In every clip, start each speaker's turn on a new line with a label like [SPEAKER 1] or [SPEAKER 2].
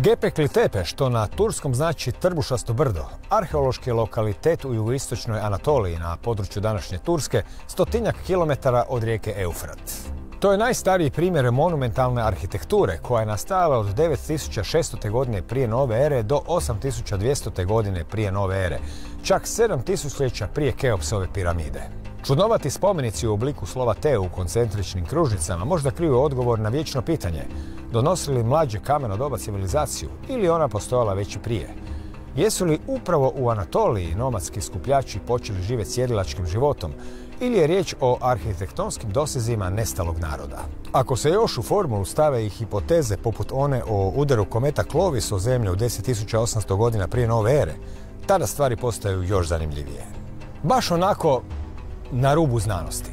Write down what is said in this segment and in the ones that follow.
[SPEAKER 1] Gepekli Tepe, što na turskom znači Trbušasto brdo, arheološki lokalitet u jugoistočnoj Anatoliji na području današnje Turske, 100-tinjak kilometara od rijeke Eufrat. To je najstariji primjer monumentalne arhitekture koja je nastajala od 9600. godine prije nove ere do 8200. godine prije nove ere, čak 7 tisućljeća prije Keopsove piramide. Čudnovati spomenici u obliku slova T u koncentričnim kružnicama možda kriju odgovor na vječno pitanje: donosi li mlađe kameno doba civilizaciju ili ona postojala već i prije? Jesu li upravo u Anatoliji nomadski skupljači počeli živjeti sjedilačkim životom ili je riječ o arhitektonskim dosezima nestalog naroda? Ako se još u formulu stave i hipoteze poput one o udaru kometa Clovis o zemlju u 10.800 godina prije nove ere, tada stvari postaju još zanimljivije. Baš onako na rubu znanosti.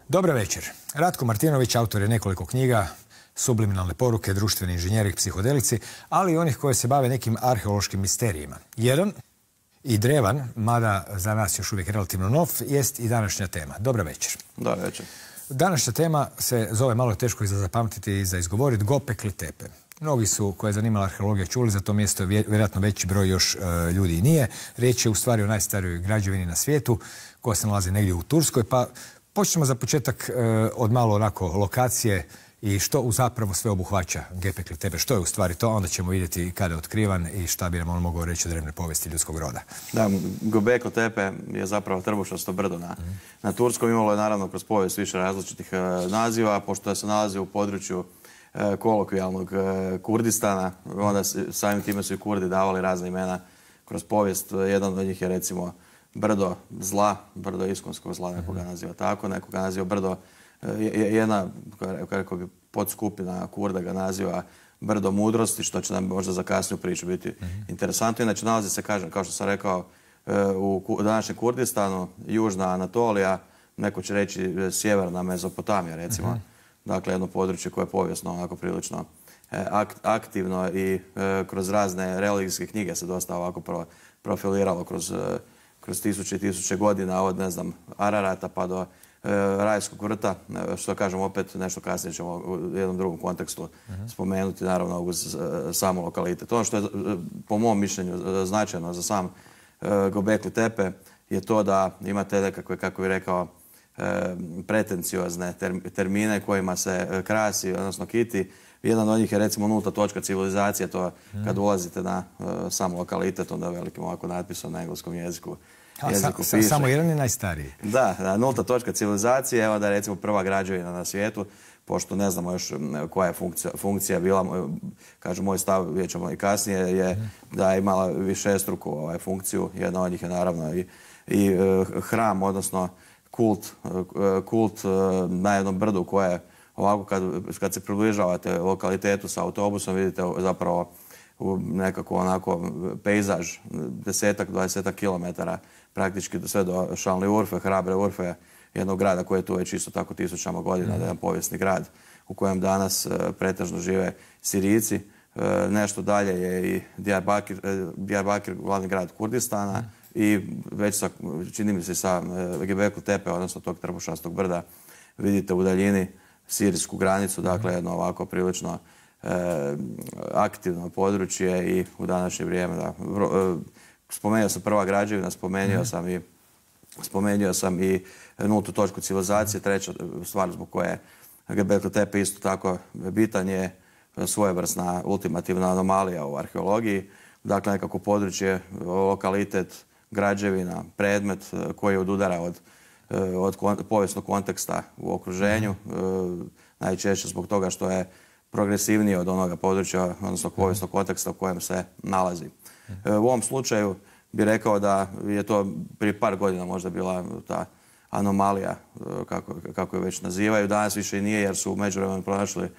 [SPEAKER 1] Dobar večer. Ratko Martinović, autor je nekoliko knjiga, Subliminalne poruke, Društveni inženjeri, psihodelici, ali i onih koji se bave nekim arheološkim misterijima. Jedan i drevan, mada za nas još uvijek relativno nov, jest i današnja tema. Dobar večer.
[SPEAKER 2] Dobar večer.
[SPEAKER 1] Današnja tema se zove, malo teško i za zapamtiti i za izgovoriti, Gopekli Tepe. Mnogi su, koje je zanimala arheologija, čuli za to mjesto, vjerojatno veći broj još ljudi i nije. Riječ je u stvari o najstarijoj građevini na svijetu, koja se nalazi negdje u Turskoj, pa počnemo za početak od malo onako lokacije i što zapravo sve obuhvaća Gepekli Tepe. Što je u stvari to, onda ćemo vidjeti kada je otkrivan i šta bi nam on mogao reći o drevnoj povijesti ljudskog roda.
[SPEAKER 2] Da, Gobekli Tepe je zapravo Trbušasto brdo na Turskom. Imalo je naravno kroz povijest više različitih naziva, pošto se nalazi u području kolokvijalnog Kurdistana, onda samim time su i Kurdi davali razne imena kroz povijest. Jedan od njih je recimo brdo zla, brdo iskonskog zla, nekoga naziva tako, nekoga naziva brdo, jedna, kako bi podskupina Kurda ga naziva brdo mudrosti, što će nam možda za kasniju priču biti interesantno. Inače, nalazi se, kažem, kao što sam rekao, u današnjem Kurdistanu, južna Anatolija, neko će reći sjeverna Mezopotamija, recimo. Dakle, jedno područje koje je povijesno onako prilično aktivno i kroz razne religijske knjige se dosta ovako profiliralo kroz tisuće i tisuće godina, od, ne znam, Ararata pa do Rajskog vrta, što kažem opet nešto kasnije ćemo u jednom drugom kontekstu spomenuti, naravno uz samu lokalitet. Ono što je po mom mišljenju značajno za sam Gobekli Tepe je to da imate nekakve, kako bih rekao, pretenciozne termine kojima se krasi, odnosno kiti. Jedan od njih je recimo nulta točka civilizacije, to kad ulazite na sam lokalitet, onda velikim ovako natpisom na engleskom jeziku piše.
[SPEAKER 1] Samo jedan je najstariji.
[SPEAKER 2] Da, nulta točka civilizacije, evo da je recimo prva građevina na svijetu, pošto ne znamo još koja je funkcija bila, kažu moj stav, vidjet ćemo i kasnije, je da je imala višestruku funkciju. Jedna od njih je naravno i hram, odnosno kult na jednom brdu koje ovako kad se približavate lokalitetu sa autobusom vidite zapravo nekako onako pejzaž 10-20 kilometara praktički sve do Šalni Urfe, Hrabre Urfe, jednog grada koji je tu već isto tako tisućama godina, jedan povijesni grad u kojem danas pretežno žive Sirijci. Nešto dalje je i Diyarbakir, glavni grad Kurdistana, i već čini mi se sa Gobekli Tepe, odnosno tog Trbušastog brda, vidite u daljini sirijsku granicu, dakle jedno ovako prilično aktivno područje i u današnje vrijeme. Spomenuo sam prva građevina, spomenuo sam i nultu točku civilizacije. Treća stvar zbog koje Gobekli Tepe isto tako bitan je svojevrsna ultimativna anomalija u arheologiji. Dakle, nekako područje, lokalitet, građevina, predmet koji odudara od povijesnog konteksta u okruženju, najčešće zbog toga što je progresivniji od onoga područja, odnosno povijesnog konteksta u kojem se nalazi. U ovom slučaju bih rekao da je to prije par godina možda bila ta anomalija, kako je već nazivaju. Danas više i nije, jer su u međuvremenu pronašli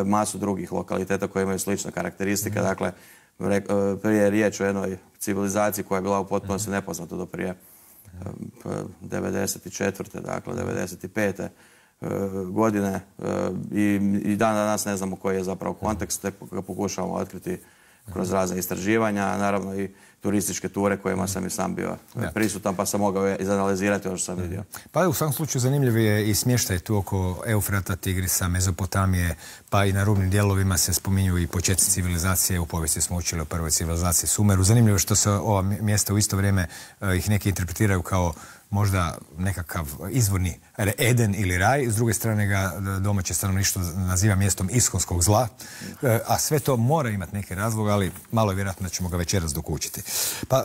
[SPEAKER 2] masu drugih lokaliteta koji imaju slične karakteristike. Dakle, prije je riječ o jednoj civilizaciji koja je bila u potpunosti nepoznata do prije 94. dakle 95. godine i dan danas ne znamo koji je zapravo kontekst, tek ga pokušavamo otkriti kroz razne istraživanja, naravno i turističke ture kojima sam i sam bio prisutan, pa sam mogao izanalizirati ono što sam vidio.
[SPEAKER 1] Pa u svakom slučaju zanimljiv je i smještaj tu oko Eufrata, Tigrisa, Mezopotamije, pa i na rubnim dijelovima se spominju i početci civilizacije. U povijesti smo učili o prvoj civilizaciji Sumeru. Zanimljivo je što se ova mjesta u isto vrijeme ih neki interpretiraju kao možda nekakav izvorni Eden ili raj, s druge strane ga domaće stanovništvo naziva mjestom iskonskog zla, a sve to mora imati neke razloge, ali malo je vjerojatno da ćemo ga večeras dokučiti. Pa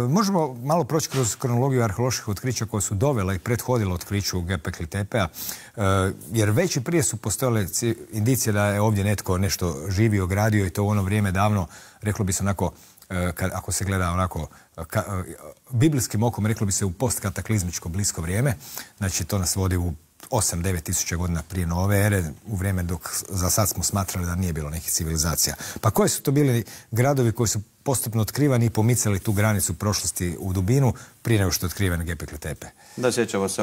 [SPEAKER 1] možemo malo proći kroz kronologiju arheoloških otkrića koje su dovela i prethodila otkriću Göbekli Tepea, jer već i prije su postojale indicije da je ovdje netko nešto živio, gradio i to u ono vrijeme davno, reklo bi se onako, ako se gleda onako biblijskim okom, reklo bi se u postkataklizmičko blisko vrijeme. Znači to nas vodi u 8-9 tisuća godina prije nove ere, u vrijeme dok za sad smo smatrali da nije bilo nekih civilizacija. Pa koji su to bili gradovi koji su postupno otkrivani i pomicali tu granicu prošlosti u dubinu prije nego što je otkriven Göbekli Tepe?
[SPEAKER 2] Da, sjećamo se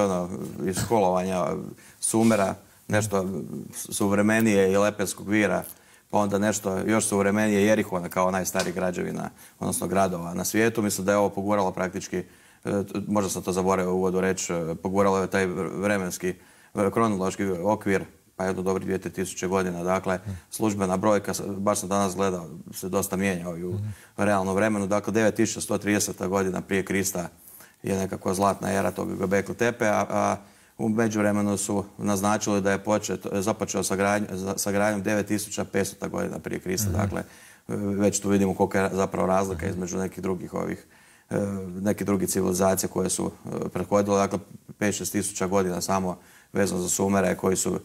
[SPEAKER 2] iz školovanja Sumera, nešto suvremenije i Lepenskog vira, pa onda nešto još suvremenije Jerihona kao najstarih građevina, odnosno gradova na svijetu. Mislim da je ovo poguralo praktički, možda sam to zaboravio u uvodu reći, poguralo je taj vremenski, kronološki okvir, pa jedno dobrih 2000 godina. Dakle, službena brojka, baš sam danas gledao, se dosta mijenja u realnom vremenu. Dakle, 9130. godina prije Krista je nekakva zlatna era tog Göbekli Tepe, a u međuvremenu su naznačili da je započeo sa gradnjom 9500. godina prije Krista. Dakle, već tu vidimo kolika je zapravo razlika između nekih drugih civilizacija koje su prethodile. Dakle, 5-6 tisuća godina samo vezano za Sumere koji su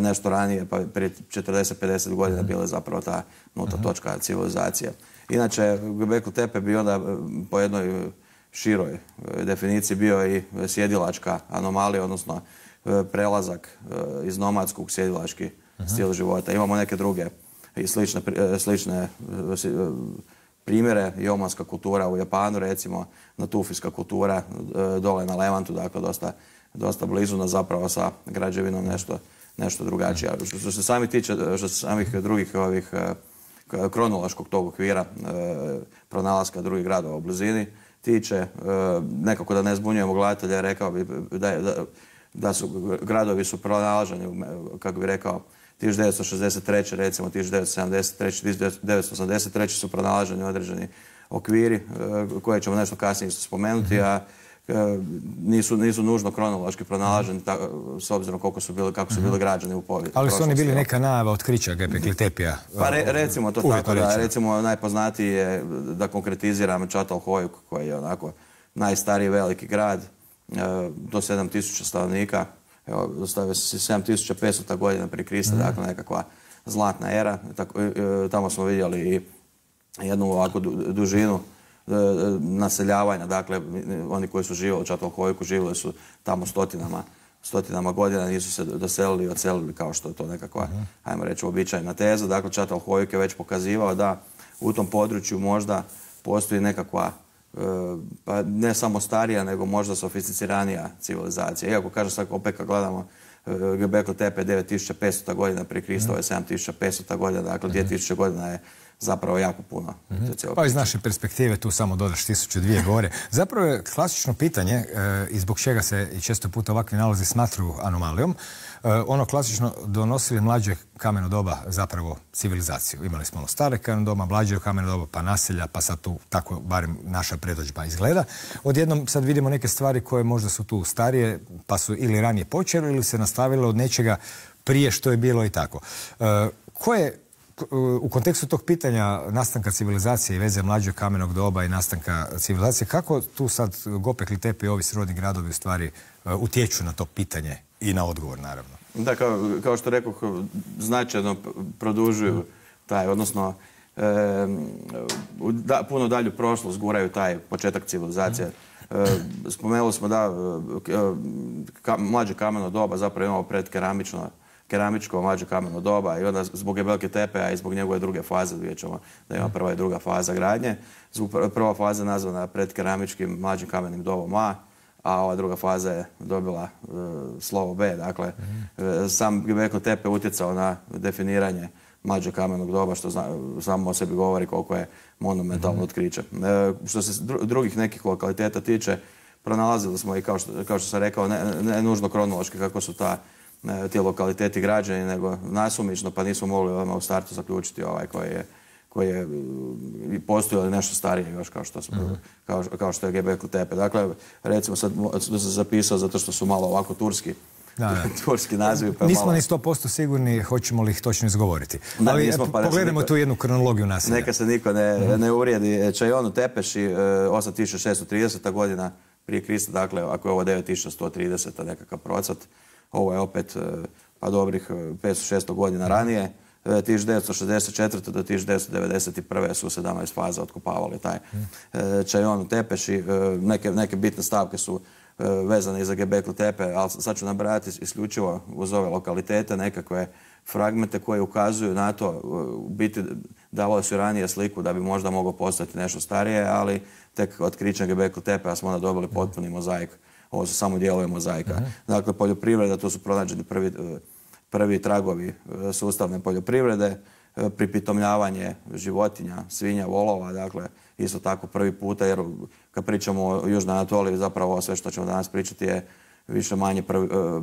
[SPEAKER 2] nešto ranije, pa prije 40-50 godina bile zapravo ta nulta točka civilizacije. Inače, Göbekli Tepe bi onda po jednoj široj definiciji bio i sjedilačka anomalija, odnosno prelazak iz nomadskog sjedilački stil života. Imamo neke druge i slične primjere. I omanska kultura u Japanu, recimo natufijska kultura dole na Levantu, dakle dosta blizu nas zapravo sa građevinom nešto drugačija. Što se samih drugih kronološkog tog okvira pronalaska drugih gradova u blizini tiče, nekako da ne zbunjujemo gledatelja, rekao bi da su gradovi su pronalaženi, kako bi rekao, 1963. recimo 1973. 1983. su pronalaženi određeni okviri koje ćemo nešto kasnije spomenuti, a nisu nužno kronološki pronalaženi s obzirom kako su bili građani u povijesti.
[SPEAKER 1] Ali su oni bili neka najava otkrića Göbekli Tepea?
[SPEAKER 2] Pa recimo to tako, da. Recimo najpoznatiji je, da konkretiziram, Çatalhöyük koji je onako najstariji veliki grad, do 7000 stanovnika. Dostavio se 7500. godina prije Krista, dakle nekakva zlatna era. Tamo smo vidjeli i jednu ovakvu dužinu naseljavanja. Dakle, oni koji su živjeli u Çatalhöyüku živjeli su tamo stotinama godina, nisu se doselili i odselili kao što je to nekakva, ajmo reći, uobičajena teza. Dakle, Çatalhöyük je već pokazivao da u tom području možda postoji nekakva, pa ne samo starija, nego možda sofisticiranija civilizacija. Iako, kažem, sad opet kad gledamo Göbekli Tepe 9500. godina prije Krista, je 7500. godina, dakle 2000 godina je zapravo jako puno.
[SPEAKER 1] Pa iz naše perspektive tu samo dodaš 1002 gore. Zapravo je klasično pitanje i zbog čega se i često puta ovakvi nalazi smatruju anomalijom. Ono klasično, donosili mlađe kameno doba zapravo civilizaciju. Imali smo ono stare kameno doba, mlađe kameno doba, pa naselja, pa sad tu tako barem naša predodžba izgleda. Odjednom sad vidimo neke stvari koje možda su tu starije, pa su ili ranije počeli ili se nastavile od nečega prije što je bilo i tako. U kontekstu tog pitanja nastanka civilizacije i veze mlađeg kamenog doba i nastanka civilizacije, kako tu sad Göbekli Tepe i ovi srodni gradovi u stvari utječu na to pitanje i na odgovor, naravno?
[SPEAKER 2] Da, kao što rekoh, značajno produžuju taj, odnosno puno dalju prošlost guraju taj početak civilizacije. Spomenuli smo da mlađe kameno doba zapravo imamo keramičko mlađe kameno doba i onda zbog Gebelke tepe, a i zbog njegove druge faze, vidjet ćemo da ima prva i druga faza gradnje. Prva faza je nazvana predkeramičkim mlađim kamenim dobom A, a ova druga faza je dobila slovo B. Dakle, sam Gebekle tepe utjecao na definiranje mlađeg kamenog doba, što samo o sebi govori koliko je monumentalno otkriće. Što se drugih nekih lokaliteta tiče, pronalazili smo i kao što sam rekao, ne nužno kronološki kako su ti lokaliteti građeni, nego nasumično, pa nismo mogli odmah u startu zaključiti koji je postoji ali nešto starije još kao što je Gebekle tepe. Dakle, recimo sad sam zapisao zato što su malo ovako turski nazivi.
[SPEAKER 1] Nismo ni 100% sigurni hoćemo li ih točno izgovoriti. Ali pogledajmo tu jednu kronologiju naselja.
[SPEAKER 2] Neka se niko ne uvrijedi. Čajonu Tepeši, 8630. godina prije Krista, dakle, ako je ovo 9130. nekakav procvat, ovo je opet pa dobrih 500-600 godina ranije. 1964. do 1991. su 17 faza otkopavali taj Čajon u Tepeši. Neke bitne stavke su vezane i za Gebekle tepe, ali sad ću nabrajati isključivo uz ove lokalitete nekakve fragmente koje ukazuju na to. U biti davalo su ranije sliku da bi možda moglo postati nešto starije, ali tek otkrićem Gebekle tepe, a smo onda dobili potpuni mozaik. Ovo su samo dijelovi mozaika. Dakle, poljoprivreda, tu su pronađeni prvi tragovi sustavne poljoprivrede, pripitomljavanje životinja, svinja, volova, dakle, isto tako prvi puta, jer kad pričamo o Južnoj Anatoliji, zapravo sve što ćemo danas pričati je više manje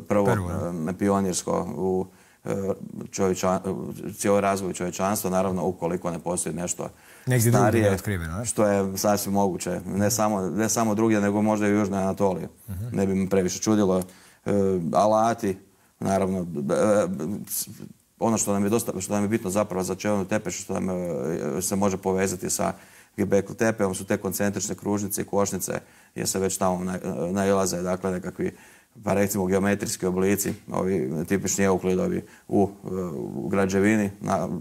[SPEAKER 2] prvo pionirsko u cijeloj razvoju čovječanstva, naravno ukoliko ne postoji nešto starije, što je sasvim moguće. Ne samo drugdje, nego možda i u Južnoj Anatoliji. Ne bi me previše čudilo. Alati, naravno, ono što nam je bitno zapravo za Čajonu Tepešu, što nam se može povezati sa Gebekle tepom, su te koncentrične kružnice i košnice, jer se već tamo nailaze, dakle, nekakvi, pa recimo geometrijski oblici, ovi tipični euklidovi u građevini.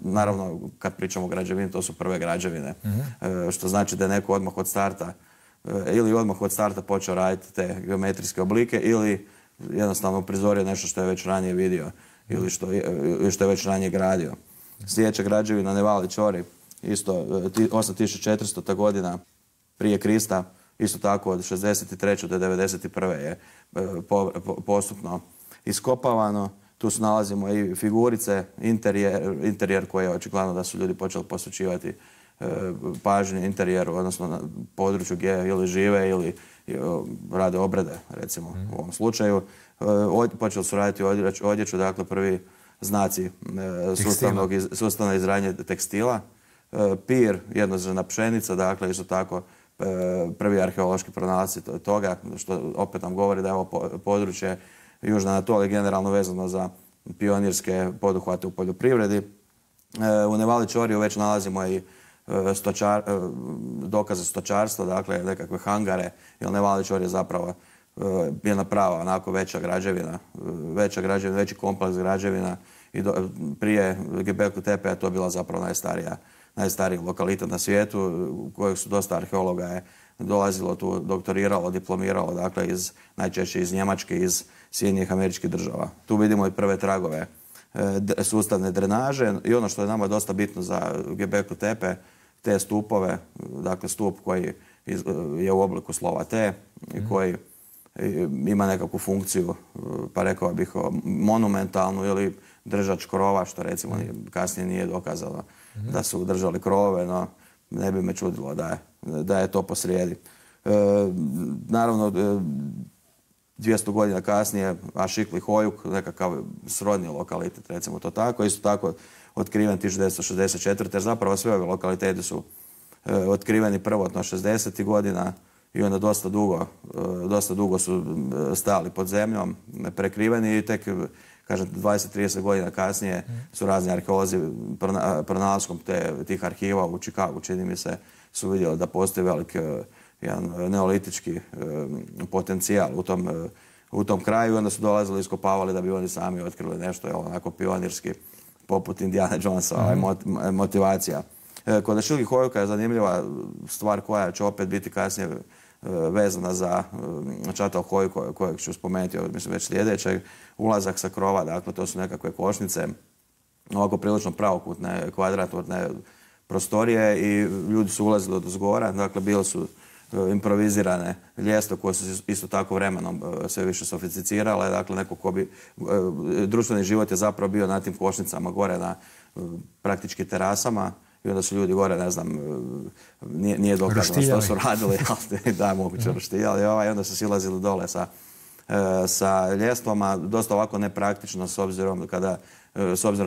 [SPEAKER 2] Naravno, kad pričamo o građevini, to su prve građevine, što znači da je neko odmah od starta počeo raditi te geometrijske oblike ili jednostavno prizorio nešto što je već ranije vidio ili što je već ranije gradio. Sljedeća građevina Nevali čvori, isto 8400. godina prije Krista, isto tako od 63. do 91. je postupno iskopavano. Tu se nalazimo i figurice, interijer koji je očigledno da su ljudi počeli posvećivati pažnje interijeru, odnosno na području gdje ili žive ili rade obrede, recimo u ovom slučaju. Počeli su raditi odjeću, dakle prvi znaci sustavno izranje tekstila. Pir, jednozrna pšenica, dakle isto tako prvi arheološki pronalasci toga, što opet nam govori da je ovo područje Južne Anatolije generalno vezano za pionirske poduhvate u poljoprivredi. U Nevali čvoriju već nalazimo i dokaze stočarstva, dakle nekakve hangare, jer Nevali čvor je zapravo jedna prava, onako veća građevina, veći kompleks građevina i prije Gebekle tepe je to bila zapravo najstariji lokalitet na svijetu, u kojeg su dosta arheologa je dolazilo tu, doktoriralo, diplomiralo, dakle najčešće iz Njemačke, iz Sjedinjenih Američkih Država. Tu vidimo i prve tragove sustavne drenaže i ono što je nama dosta bitno za Gebekle tepe, te stupove, dakle stup koji je u obliku slova T i koji ima nekakvu funkciju, pa rekao bih monumentalnu ili držač krova, što recimo kasnije nije dokazano da su držali krovove, no ne bi me čudilo da je to posrijedi. Naravno, 200 godina kasnije Ašikli Hojuk, nekakav srodni lokalitet, recimo to tako, isto tako otkriven 1964. jer zapravo sve ove lokaliteti su otkriveni prvotno 60. godina i onda dosta dugo su stajali pod zemljom, prekriveni i tek, kažem, 20-30 godina kasnije su razni arheolozi pronalaskom tih arhiva u Čikagu, čini mi se, su vidjeli da postoji velik jedan neolitički potencijal u tom kraju i onda su dolazili i iskopavali da bi oni sami otkrili nešto onako pionirski, poput Indiana Jonesa, motivacija. Kod Ašikli Hojuka je zanimljiva stvar koja će opet biti kasnije vezana za Čatalhoju kojeg ću spomenuti, mislim već sljedećeg, ulazak sa krova, dakle to su nekakve košnice, ovako prilično pravokutne, kvadratne prostorije i ljudi su ulazili od zgora, dakle bile su improvizirane ljestve koje su isto tako vremenom sve više sofisticirale, dakle neko ko bi, društveni život je zapravo bio na tim košnicama gore na praktički terasama i onda su ljudi gore, ne znam, nije dokazano što su radili, da, moguće roštiljali, i onda su silazili dole sa ljestvama, dosta ovako nepraktično s obzirom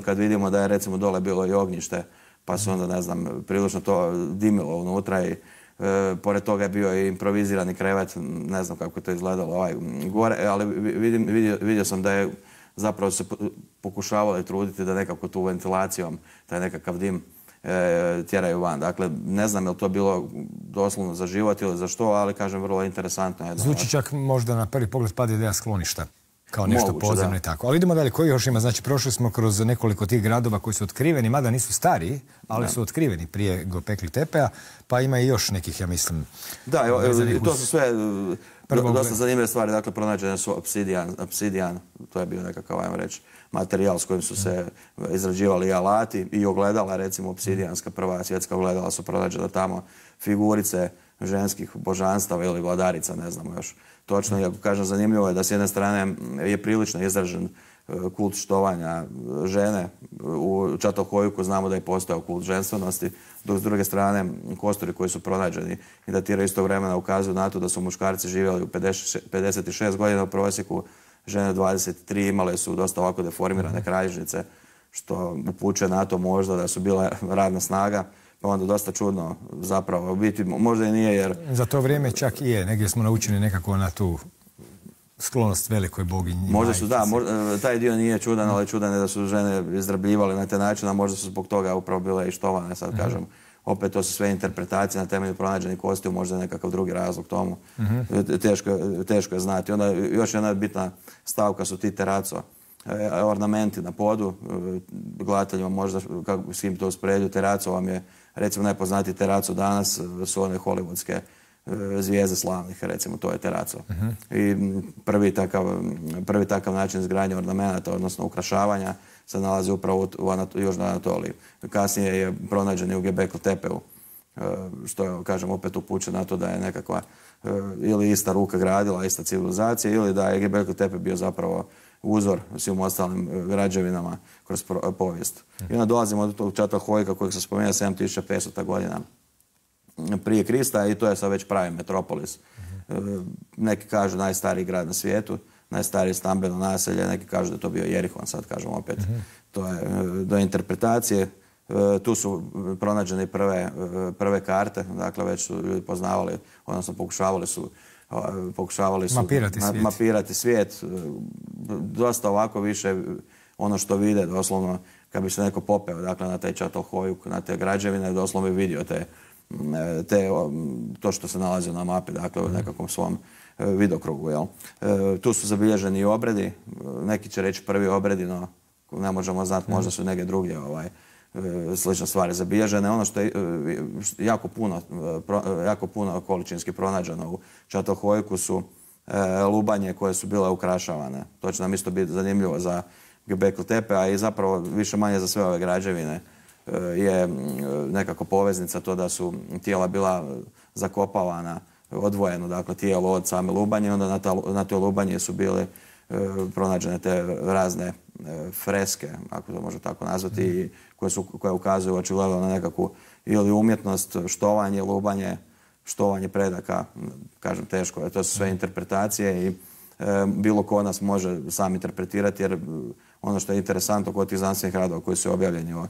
[SPEAKER 2] kad vidimo da je recimo dole bilo i ognjište, pa su onda, ne znam, prilično to dimilo unutra i pored toga je bio i improvizirani krevet, ne znam kako je to izgledalo gore, ali vidio sam da je zapravo se pokušavalo truditi da nekako tu ventilacijom taj nekakav dim tjeraju van. Dakle, ne znam je li to bilo doslovno za život ili za što, ali kažem vrlo interesantno.
[SPEAKER 1] Zvuči čak možda na prvi pogled pada ideja skloništa. Kao nešto podzemno i tako. Ali idemo dalje. Koji još ima? Znači, prošli smo kroz nekoliko tih gradova koji su otkriveni, mada nisu stariji, ali su otkriveni prije Göbekli Tepeja, pa ima i još nekih, ja mislim...
[SPEAKER 2] Da, to su sve dosta zanimljive stvari. Dakle, pronađene su obsidijan, to je bio nekakav, ajmo reći, materijal s kojim su se izrađivali alati i ogledala, recimo obsidijanska prva svjetska ogledala su pronađena tamo, figurice ženskih božanstava ili vladarica, ne znamo još točno. Iako kažem, zanimljivo je da s jedne strane je prilično izražen kult štovanja žene. U Čatalhojku znamo da je postojao kult ženstvenosti, dok s druge strane kosturi koji su pronađeni i datiraju istog vremena ukazuju na to da su muškarci živjeli u 56 godina u prosjeku, žene 23, imale su dosta ovako deformirane kralježnice, što upućuje na to možda da su bile radna snaga. Pa onda dosta čudno zapravo biti, možda i nije jer...
[SPEAKER 1] Za to vrijeme čak i je, negdje smo naučeni nekako na tu sklonost velikoj boginji.
[SPEAKER 2] Možda su, da, taj dio nije čudan, ali čudan je da su žene izrabljivale na taj način, a možda su zbog toga upravo bile i štovane, sad kažem. Opet to su sve interpretacije na temelju pronađenih kostiju, možda je nekakav drugi razlog tomu. Teško je znati. Onda još jedna bitna stavka su ti teraco. Ornamenti na podu, gledateljima možda s kim to uspoređuju, teraco vam je, recimo najpoznatiji teraco danas su one hollywoodske zvijezde slavnih, recimo to je teraco. I prvi takav način izgradnje ornamenata, odnosno ukrašavanja, se nalazi upravo u Južnoj Anatoliji. Kasnije je pronađen i u Göbekli Tepeu, što je, kažem, opet upućuje na to da je nekakva ili ista ruka gradila, ista civilizacija, ili da je Göbekli Tepe bio zapravo uzor svim ostalim građevinama kroz povijest. I onda dolazimo do tog Čatalhojka kojeg se spomenuo 7500. godina prije Krista i to je sad već pravi metropolis. Neki kažu najstariji grad na svijetu, najstarije stambeno naselje, neki kažu da je to bio Jerihon, sad kažem opet. To je do interpretacije. Tu su pronađene prve karte, dakle već su ljudi poznavali, odnosno pokušavali su mapirati svijet. Dosta ovako više ono što vide, doslovno, kad bi se neko popeo dakle, na taj Čatalhojuk, na te građevine, doslovno bi vidio to što se nalazi na mapi, dakle u nekakvom svom vidokrugu. Tu su zabilježeni i obredi, neki će reći prvi obredi, no ne možemo znati, možda su neke druge slične stvari zabilježene. Ono što je jako puno količinski pronađeno u Čatalhojku su lubanje koje su bile ukrašavane. To će nam isto biti zanimljivo za Göbekli Tepe, a i zapravo više manje za sve ove građevine je nekako poveznica to da su tijela bila zakopavana odvojeno, dakle tijelo od same lubanje, onda na toj lubanje su bile pronađene te razne freske, ako to može tako nazvati, koje ukazuju očigledno na nekakvu ili umjetnost, štovanje, lubanje, štovanje predaka, kažem teško, to su sve interpretacije i bilo ko nas može sam interpretirati, jer ono što je interesantno kod tih znanstvenih radova koji su objavljeni o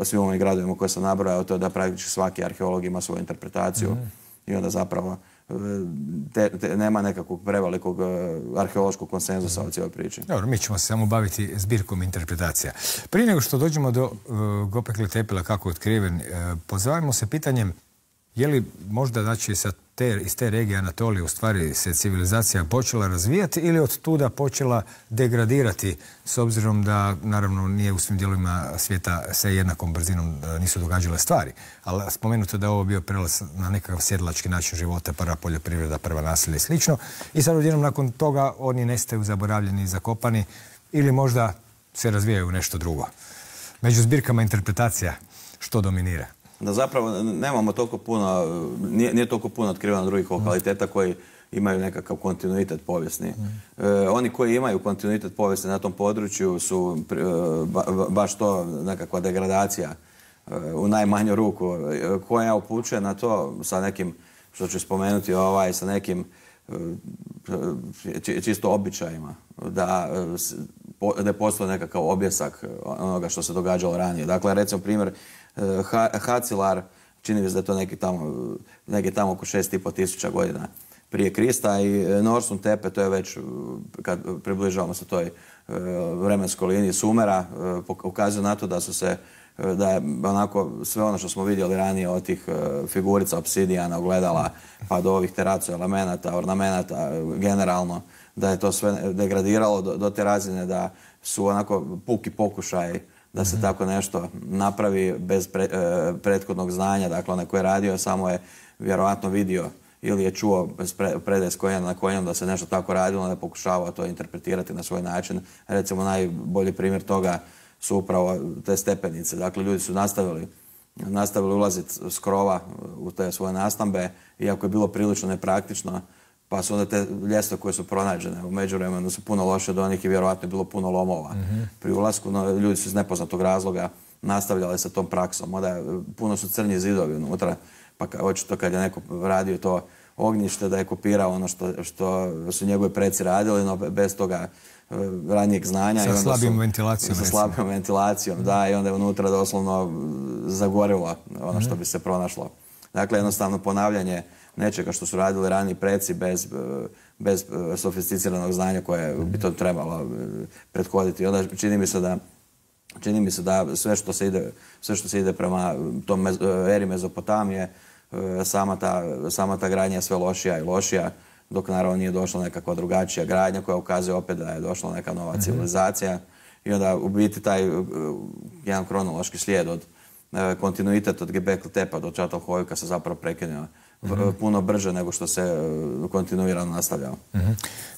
[SPEAKER 2] svim ovim gradovima koje sam nabrojao, to je da praktički svaki arheolog ima svoju interpretaciju i onda zapravo nema nekakvog prevelikog arheološkog konsenzusa o cijeloj priči.
[SPEAKER 1] Dobro, mi ćemo se samo baviti zbirkom interpretacija. Prije nego što dođemo do Göbekli Tepe kako je otkriven, pozabavimo se pitanjem je li možda, znači, sa iz te regije Anatolije u stvari se civilizacija počela razvijati ili od tuda počela degradirati, s obzirom da naravno nije u svim dijelovima svijeta se jednakom brzinom nisu događale stvari. Ali spomenuto da je ovo bio prelaz na nekakav sjedilački način života, prva poljoprivreda, prva naselja i slično. I sad odjednom nakon toga oni nestaju zaboravljeni i zakopani ili možda se razvijaju u nešto drugo. Među zbirkama interpretacija što dominira?
[SPEAKER 2] Da zapravo nemamo toliko puno, nije toliko puno otkriveno drugih lokaliteta koji imaju nekakav kontinuitet povijesni. Oni koji imaju kontinuitet povijesni na tom području su baš to nekakva degradacija u najmanju ruku, koja upućuje na to sa nekim, što ću spomenuti, sa nekim čisto običajima, da postoji nekakav objesak onoga što se događalo ranije. Dakle, recimo primjer, Hacilar, čini mi se da je to neki tamo oko 6.500 godina prije Krista, i Norsum Tepe, to je već, kad približavamo se toj vremenskoj liniji Sumera, ukazuje na to da je onako sve ono što smo vidjeli ranije od tih figurica, obsidijana, ogledala, pa do ovih teracu elemenata, ornamenata, generalno, da je to sve degradiralo do te razine da su onako puki pokušaj da se tako nešto napravi bez prethodnog znanja. Dakle, onaj koji je radio samo je vjerovatno vidio ili je čuo predaje s konjem na konjem da se nešto tako radilo, da je pokušavao to interpretirati na svoj način. Recimo, najbolji primjer toga su upravo te stepenice. Dakle, ljudi su nastavili ulaziti s krova u te svoje nastambe, iako je bilo prilično nepraktično, pa su onda te ljestve koje su pronađene u međuvremenu su puno loše od onih i vjerovatno je bilo puno lomova pri ulasku, no ljudi su iz nepoznatog razloga nastavljali sa tom praksom. Onda puno su crni zidovi unutra, pa očito kad je neko radio to ognjište da je kopirao ono što su njegovi preci radili, no bez toga ranijeg znanja.
[SPEAKER 1] Sa slabijom ventilacijom.
[SPEAKER 2] Sa slabijom ventilacijom, da, i onda je unutra doslovno zagorilo ono što bi se pronašlo. Dakle, jednostavno ponavljanje nečega što su radili raniji preci bez sofisticiranog znanja koje bi to trebalo prethoditi. Onda čini mi se da sve što se ide prema tom eri Mezopotamije, sama ta gradnja je sve lošija i lošija, dok naravno nije došla nekakva drugačija gradnja koja ukazuje opet da je došla neka nova civilizacija. I onda u biti taj jedan kronološki slijed od kontinuitet od Göbekli Tepe do Çatalhöyüka se zapravo prekinuo puno brže nego što se kontinuirano nastavljao.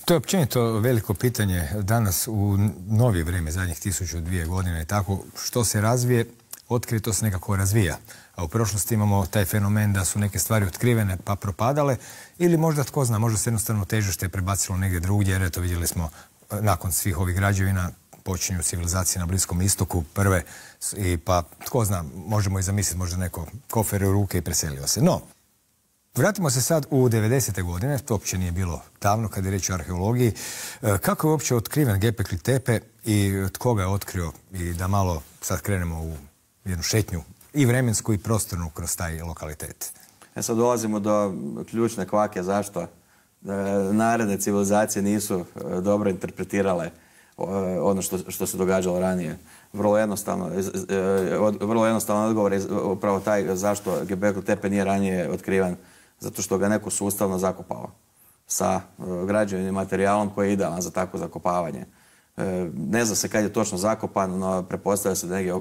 [SPEAKER 1] To je općenito veliko pitanje danas u novije vrijeme, zadnjih 1000-2 godine i tako, što se razvije, otkrije, to se nekako razvija. A u prošlosti imamo taj fenomen da su neke stvari otkrivene pa propadale, ili možda, tko zna, možda se jednostavno težište prebacilo negdje drugdje, jer eto vidjeli smo nakon svih ovih građevina počinju civilizacije na Bliskom istoku prve, i pa tko zna, možemo i zamisliti možda neko kofer u ruke i preselio se. No, vratimo se sad u 90. godine, to uopće nije bilo davno kad je riječ o arheologiji. Kako je uopće otkriven Göbekli Tepe i tko ga je otkrio, i da malo sad krenemo u jednu šetnju i vremensku i prostornu kroz taj lokalitet.
[SPEAKER 2] Sad dolazimo do ključne kvake zašto naredne civilizacije nisu dobro interpretirale ono što se događalo ranije. Vrlo jednostavno odgovor je upravo taj zašto Göbekli Tepe nije ranije otkriven. Zato što ga neko sustavno zakopao sa građevnim materijalom koji je idealan za takvo zakopavanje. Ne zna se kad je točno zakopan, no pretpostavlja se da negdje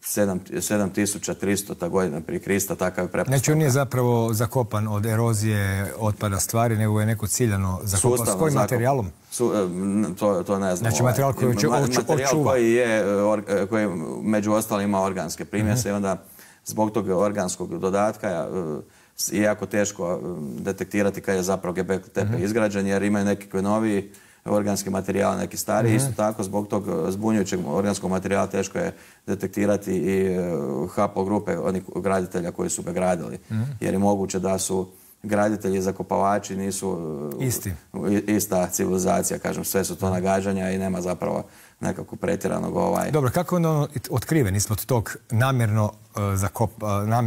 [SPEAKER 2] 7300 godina prije Krista, takav je pretpostavka.
[SPEAKER 1] Znači on nije zapravo zakopan od erozije, otpada stvari, nego je neko ciljano zakopan. S kojim materijalom?
[SPEAKER 2] To ne znam.
[SPEAKER 1] Znači materijal koji
[SPEAKER 2] materijal koji među ostalim ima organske primjese i onda zbog tog organskog dodatka je jako teško detektirati kad je zapravo Göbekli Tepe izgrađen, jer imaju nekakve noviji organski materijal, neki stariji. Isto tako, zbog tog zbunjujućeg organskog materijala teško je detektirati i haplogrupe onih graditelja koji su ga gradili. Jer je moguće da su graditelji i zakopavači nisu ista civilizacija, kažem, sve su to nagađanja i nema zapravo nekakvog pretjeranog
[SPEAKER 1] Dobro, kako je onda otkriven ispod tog namjerno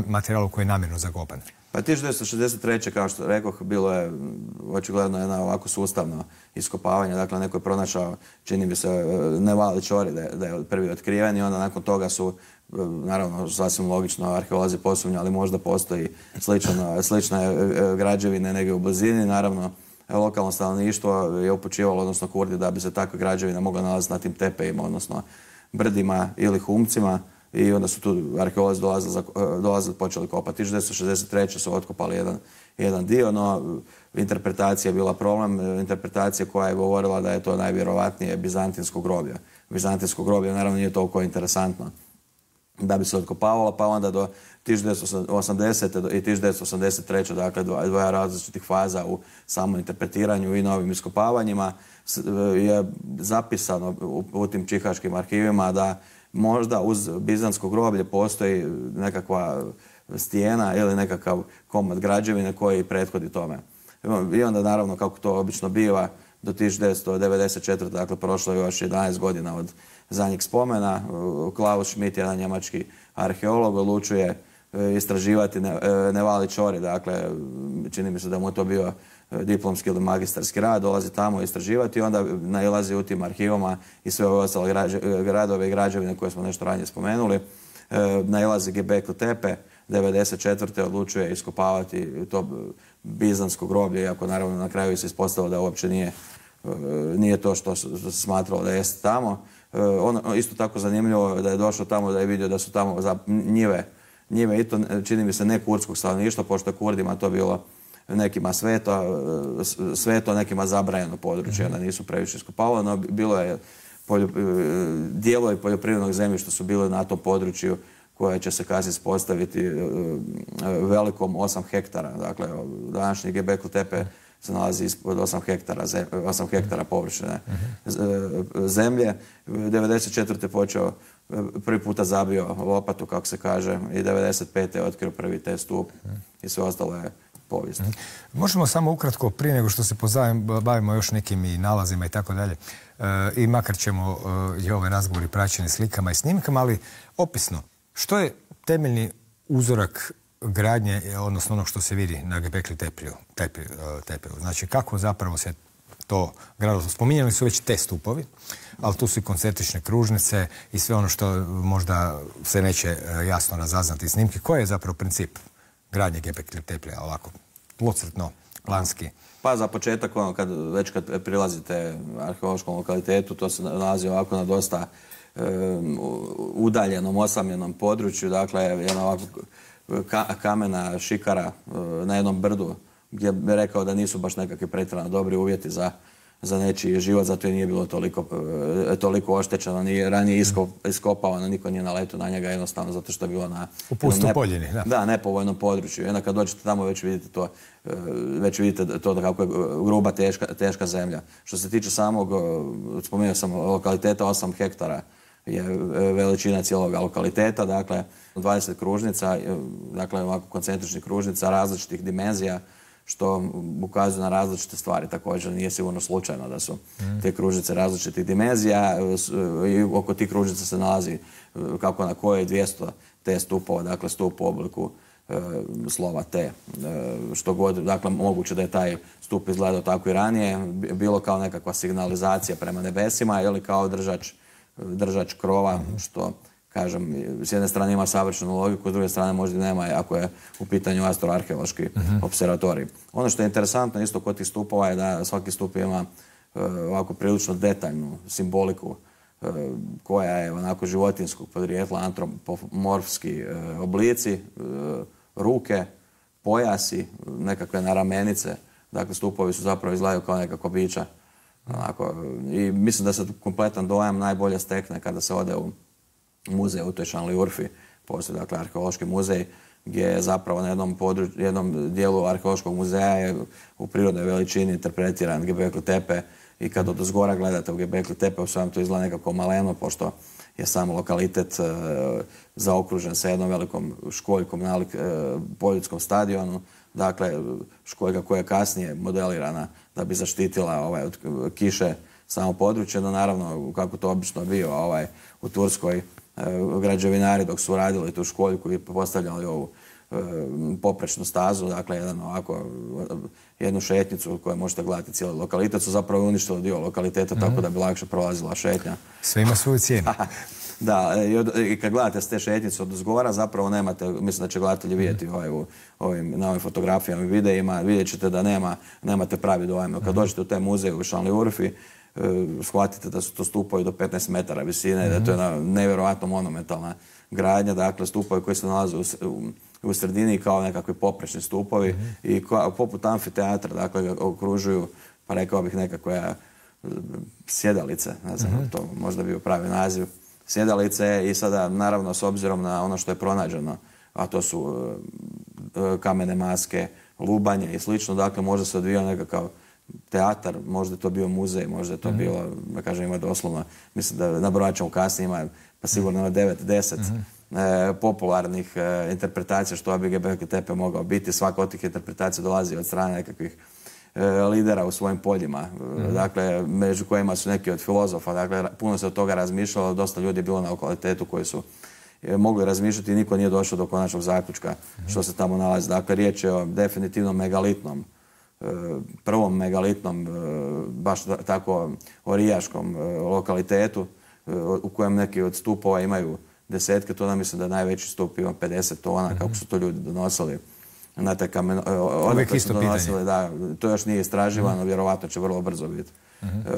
[SPEAKER 1] materijalu koji je namjerno zakopan?
[SPEAKER 2] Pa 1963. kao što rekoh, bilo je očigledno jedno ovako sustavno iskopavanje. Dakle, neko je pronašao, čini mi se, Nevali čori da je prvi otkriven i onda nakon toga su, naravno, sasvim logično, arheolozi posumnjali, možda postoji slične građevine negdje u blizini. Naravno, lokalno stanovništvo je upućivalo, odnosno Kurdi, da bi se takve građevine mogle nalaziti na tim tepejima, odnosno brdima ili humcima. I onda su tu arheolozi dolazili, počeli kopati. 1963. su otkopali jedan dio, no interpretacija je bila problem. Interpretacija koja je govorila da je to najvjerovatnije bizantinsko groblje. Bizantinsko groblje naravno nije toliko interesantno da bi se otkopavalo, pa onda do 1980. i 1983. dakle dvoja različitih faza u samom interpretiranju i novim iskopavanjima je zapisano u tim čihaškim arhivima da možda uz bizantsko groblje postoji nekakva stijena ili nekakav komad građevine koji prethodi tome. I onda naravno, kako to obično biva, do 1994. dakle prošlo je još 11 godina od zadnjeg spomena. Klaus Schmidt, jedan njemački arheolog, odlučuje istraživati Nevali čori. Dakle, čini mi se da mu je to bio diplomski ili magistarski rad, dolazi tamo istraživati i onda nailazi u tim arhivama i sve ove ostale gradove i građevine koje smo nešto ranije spomenuli. Nailazi Göbekli Tepe, 1994. odlučuje iskopavati to bizantsko groblje, iako naravno na kraju se ispostavilo da uopće nije to što se smatralo da jeste tamo. Isto tako zanimljivo da je došao tamo da je vidio da su tamo njive i to čini mi se ne kurdskog stanovništva, pošto je Kurdima to bilo nekima sveto, nekima zabranjeno područje, da nisu previše iskopavali, no bilo je dijelovi poljoprivrednog zemljišta su bili na tom području koje će se kasnije ispostaviti velikom 8 hektara. Dakle, današnji Göbekli Tepe se nalazi ispod 8 hektara površine zemlje. 1994. počeo, prvi puta zabio lopatu, kako se kaže, i 1995. je otkrio prvi te stup i sve ostalo je povijest.
[SPEAKER 1] Možemo samo ukratko, prije nego što se bavimo još nekim i nalazima i tako dalje, i makar ćemo i ove razgovori praćeni slikama i snimkama, ali opisno, što je temeljni uzorak gradnje, odnosno ono što se vidi na Göbekli Tepeju? Znači, kako zapravo se to gradilo? Spominjali su već te stupovi, ali tu su i koncentrične kružnice i sve ono što možda se neće jasno razaznati iz snimke. Koji je zapravo princip gradnje Göbekli Tepeja, ovako, tlocrtno, planski?
[SPEAKER 2] Pa za početak, kad prilazite arheološkom lokalitetu, to se nalazi ovako na dosta udaljenom, osamljenom području, dakle, jedna ovako kamena šikara na jednom brdu, gdje bi rekao da nisu baš nekakvi pretjerano dobri uvjeti za nečiji život, zato je nije bilo toliko oštećeno, nije ranije iskopavano, niko nije naletio na njega, jednostavno zato što je bilo na
[SPEAKER 1] u pustu poljini,
[SPEAKER 2] da, nepovoljnom području. I onda kad dođete tamo već vidite to kako je gruba, teška zemlja. Što se tiče samog, spomenuo sam, lokaliteta, 8 hektara je veličina cijelog lokaliteta, dakle 20 kružnica, dakle ovako koncentričnih kružnica različitih dimenzija, što ukazuje na različite stvari. Također nije sigurno slučajno da su te kružnice različitih dimenzija i oko tih kružnica se nalazi kako na koje 200 T stupova, dakle stup u obliku slova T. Što god, dakle, moguće da je taj stup izgledao tako i ranije, bilo kao nekakva signalizacija prema nebesima ili kao držač krova, što, kažem, s jedne strane ima savršenu logiku, s druge strane možda nema ako je u pitanju astroarheološki observatorij. Ono što je interesantno isto kod tih stupova je da svaki stup ima ovako prilično detaljnu simboliku koja je onako životinskog podrijetla, antropomorfski oblici, ruke, pojasi, nekakve naramenice. Dakle, stupovi su zapravo izgledaju kao nekakva bića. I mislim da se kompletan dojam najbolje stekne kada se ode u muzej u toj Šanliurfi. Postoji, dakle, arheološki muzej gdje je zapravo na jednom dijelu arheološkog muzeja je u prirodnoj veličini interpretiran Göbekli Tepe i kad od zgora gledate u Göbekli Tepe, u svem to izgleda nekako maleno, pošto je sam lokalitet zaokružen sa jednom velikom školjkom nalik poljudskom stadionu. Dakle, školjka koja je kasnije modelirana da bi zaštitila od kiše samo područje, no naravno, kako to obično bio u Turskoj, građevinari dok su radili tu školjku i postavljali ovu poprečnu stazu, dakle jednu šetnicu koju možete gledati cijeli lokalitet, su zapravo uništili dio lokaliteta tako da bi lakše prolazila šetnja.
[SPEAKER 1] Sve ima svoju cijenu.
[SPEAKER 2] Da, i kad gledate s te šetnice od uzgora, zapravo nemate, mislim da će gledatelji vidjeti na ovim fotografijama i videima, vidjet ćete da nemate pravi dojam. Kad dođete u taj muzej u Šanli-Urfi, shvatite da su to stupovi do 15 metara visine, da je to jedna nevjerojatno monumentalna gradnja, dakle stupovi koji se nalaze u sredini kao nekakvi poprečni stupovi i poput amfiteatra, dakle ga okružuju, pa rekao bih nekakve sjedalice, ne znam, to možda bio pravi naziv, sjedalice i sada naravno s obzirom na ono što je pronađeno, a to su kamene maske, lubanje i slično, dakle možda se odvijao nekakav teatar, možda je to bio muzej, možda je to bilo, da kažem, ima doslovno, mislim da nabrojat ćemo kasnije, ima pa sigurno 9-10 popularnih interpretacija što bi Göbekli Tepe mogao biti. Svaka od tih interpretacija dolazi od strane nekakvih lidera u svojim poljima, dakle, među kojima su neki od filozofa, dakle, puno se od toga razmišljalo, dosta ljudi je bilo na lokalitetu koji su mogli razmišljati i niko nije došao do konačnog zaključka što se tamo nalazi. Dakle, riječ je o definitivno megalitnom, prvom megalitnom, baš tako orijaškom lokalitetu u kojem neki od stupova imaju desetke tona, mislim da najveći stup ima 50 tona, kako su to ljudi donosili na taj kamen.
[SPEAKER 1] Uvijek isto pitanje.
[SPEAKER 2] Da, to još nije istraživano, vjerovatno će vrlo brzo biti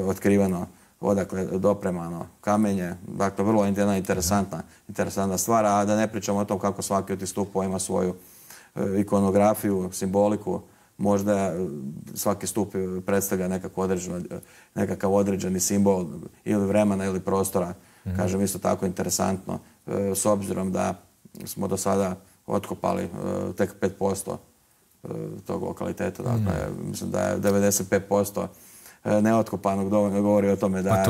[SPEAKER 2] otkriveno odakle dopremano kamenje. Dakle, vrlo jedna interesantna stvar, a da ne pričamo o tom kako svaki od tih stupova ima svoju ikonografiju, simboliku. Možda svaki stup predstavlja nekakav određeni simbol ili vremena ili prostora. Kažem, isto tako interesantno, s obzirom da smo do sada otkopali tek 5% tog lokaliteta. Dakle, mislim da je 95% neotkopanog dovoljno govori o tome da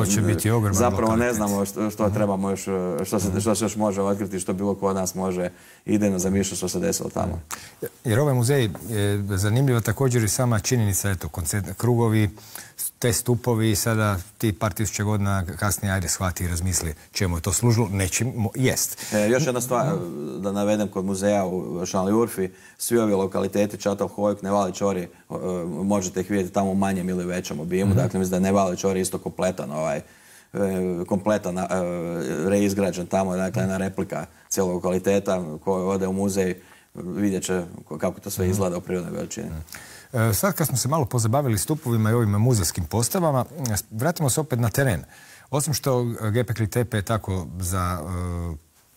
[SPEAKER 2] zapravo ne znamo što trebamo još, što se još može otkriti, što bilo ko od nas može idejno zamišljati što se desilo tamo.
[SPEAKER 1] Jer ovaj muzej je zanimljiva također i sama činjenica, eto, krugovi, te stupovi, sada ti par tisuća godina kasnije ajde shvati i razmisli čemu je to služilo, nečim jest.
[SPEAKER 2] Još jedna stvar da navedem kod muzeja u Šanli-Urfi, svi ovi lokaliteti, Čatov Hojk, Nevali Čori, možete ih vidjeti tamo u manjem ili većem obimu, dakle mislim da je Nevali Čori isto kompletan reizgrađen tamo, dakle jedna replika cijelog lokaliteta, ko ode u muzej vidjet će kako to sve izgleda u prirodnoj veličini.
[SPEAKER 1] Sad kad smo se malo pozabavili stupovima i ovim muzejskim postavama, vratimo se opet na teren. Osim što Göbekli Tepe je tako za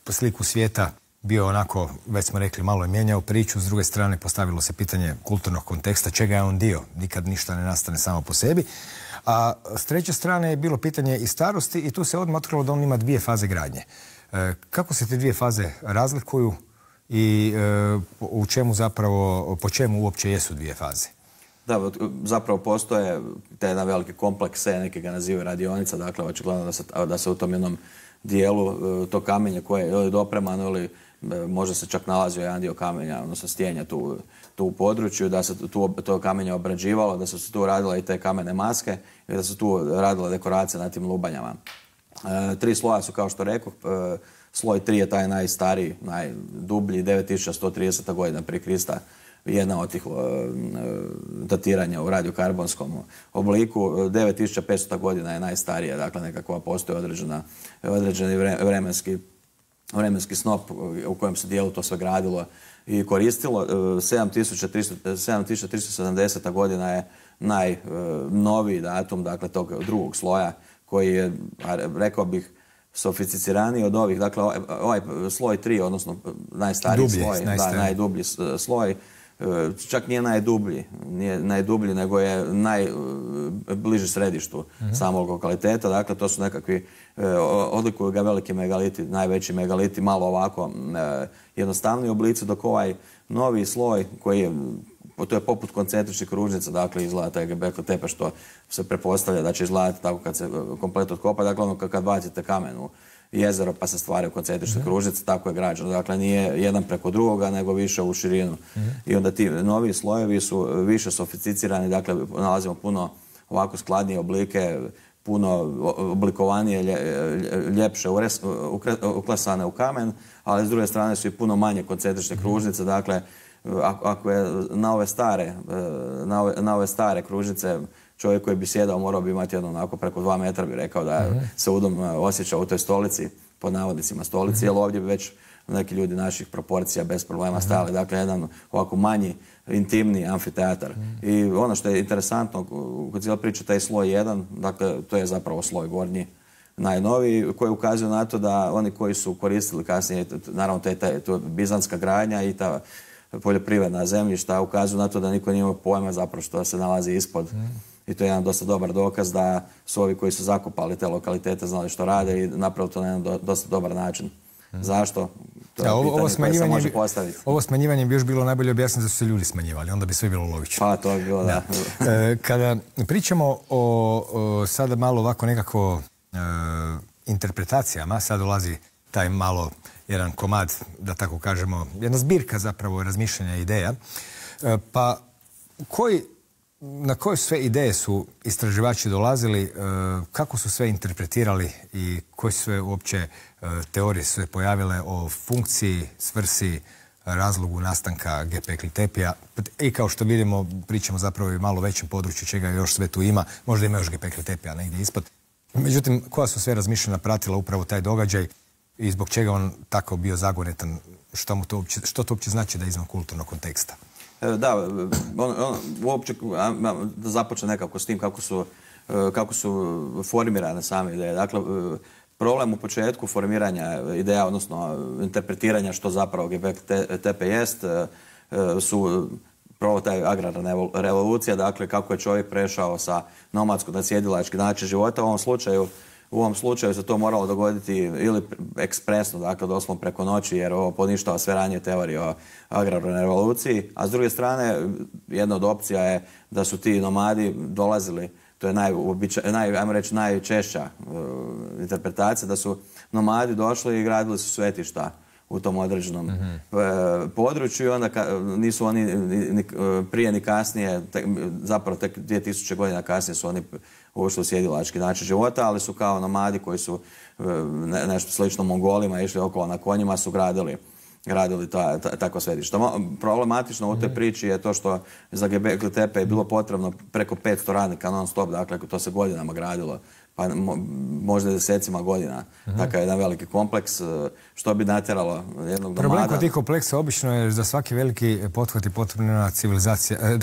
[SPEAKER 1] sliku svijeta bio onako, već smo rekli, malo je mijenjao priču, s druge strane postavilo se pitanje kulturnog konteksta, čega je on dio, nikad ništa ne nastane samo po sebi. A s treće strane je bilo pitanje i starosti i tu se odmah otkrilo da on ima dvije faze gradnje. Kako se te dvije faze razlikuju i u čemu zapravo, po čemu uopće jesu dvije faze?
[SPEAKER 2] Da, zapravo postoje te jedan veliki kompleks, neki ga nazivaju radionica, dakle očigledno da se u tom jednom dijelu to kamenje koje je ili dopremano ili možda se čak nalazio jedan dio kamenja, odnosno stijenja tu u području, da se to kamenje obrađivalo, da su se tu radile i te kamene maske i da su tu radile dekoracije na tim lubanjama. 3 sloja su, kao što rekoh, sloj 3 je taj najstariji, najdublji, 9130. godina prije Krista, jedna od tih datiranja u radiokarbonskom obliku. 9500. godina je najstarija, dakle nekakva postoji određeni vremenski snop u kojem se dijelu to sve gradilo i koristilo. 7370. godina je najnoviji datum, dakle tog drugog sloja koji je, rekao bih, sofisticiraniji od ovih. Dakle, ovaj sloj 3, odnosno najstariji sloj, najdublji sloj, čak nije najdublji, nego je najbliži središtu samog lokaliteta. Dakle, to su nekakvi, odlikuju ga veliki megaliti, najveći megaliti, malo ovako jednostavni oblici, dok ovaj novi sloj koji je, to je poput koncentričnih kružnica, dakle izgleda taj Göbekli Tepe što se pretpostavlja da će izgledati tako kad se komplet otkopa, dakle ono kad bacite kamen u jezero pa se stvaraju koncentrične kružnice, tako je građeno. Dakle, nije jedan preko drugoga, nego više u širinu. I onda ti novi slojevi su više sofisticirani, dakle nalazimo puno ovako skladnije oblike, puno oblikovanije, ljepše, uklesane u kamen, ali s druge strane su i puno manje koncentrične kružnice. Dakle, ako je na ove stare kružnice čovjek koji bi sjedao morao bi imati jedno onako preko 2 metra, bi rekao da se udobno osjeća u toj stolici, pod navodnicima stolici, jer ovdje bi već neki ljudi naših proporcija bez problema stajali. Dakle, jedan ovako manji, intimni amfiteatar. I ono što je interesantno kod cijela priča, taj sloj 1, dakle, to je zapravo sloj gornji, najnoviji, koji ukazuje na to da oni koji su koristili kasnije, naravno to je bizantska gradnja i ta poljoprivredna zemljišta, ukazuju na to da niko nije imao pojma zapravo što se nalazi ispod. I to je jedan dosta dobar dokaz da su ovi koji su zakopali te lokalitete znali što rade i napravili to na jedan dosta dobar način. Zašto? To je pitanje koje se može postaviti.
[SPEAKER 1] Ovo smanjivanje bi još bilo najbolje objasniti da su se ljudi smanjivali, onda bi sve bilo logično.
[SPEAKER 2] Pa to bi bilo, da.
[SPEAKER 1] Kada pričamo o sada malo ovako nekako interpretacijama, sad dolazi taj malo jedan komad, da tako kažemo, jedna zbirka zapravo razmišljanja ideja, pa na koje sve ideje su istraživači dolazili, kako su sve interpretirali i koje sve uopće teorije su se pojavile o funkciji, svrsi, razlogu nastanka Göbekli Tepija. I kao što vidimo, pričamo zapravo i malo većem području čega još sve tu ima. Možda ima još Göbekli Tepija negdje ispod. Međutim, koja su sve razmišljena pratila upravo taj događaj i zbog čega on tako bio zagonetan? Što to uopće znači da je izvan kulturnog konteksta?
[SPEAKER 2] Da, uopće da započne nekako s tim kako su formirane same ideje. Dakle, problem u početku formiranja ideja, odnosno interpretiranja što zapravo Göbekli Tepe jest, su prvo taj agrarna revolucija, dakle kako je čovjek prešao sa nomadskog na sjedilački način života. U ovom slučaju se to moralo dogoditi ili ekspresno, dakle doslovno preko noći, jer ovo poništava sve ranije teorije o agrarnoj revoluciji. A s druge strane, jedna od opcija je da su ti nomadi dolazili, to je ajmo reći, najčešća interpretacija, da su nomadi došli i gradili su svetišta u tom određenom području i onda nisu oni ni prije ni kasnije, zapravo tek 2000 godina kasnije su oni ušli u sjedilački način života, ali su kao nomadi koji su nešto slično Mongolima išli okolo na konjima, su gradili takva svetišta. Problematično u toj priči je to što za Göbekli Tepe je bilo potrebno preko 500 radnika non stop, dakle to se godinama gradilo, pa možda desecima godina. Takav jedan veliki kompleks, što bi natjeralo jednog nomada.
[SPEAKER 1] Problem kod tih kompleksa obično je za svaki veliki pothvat i potrebna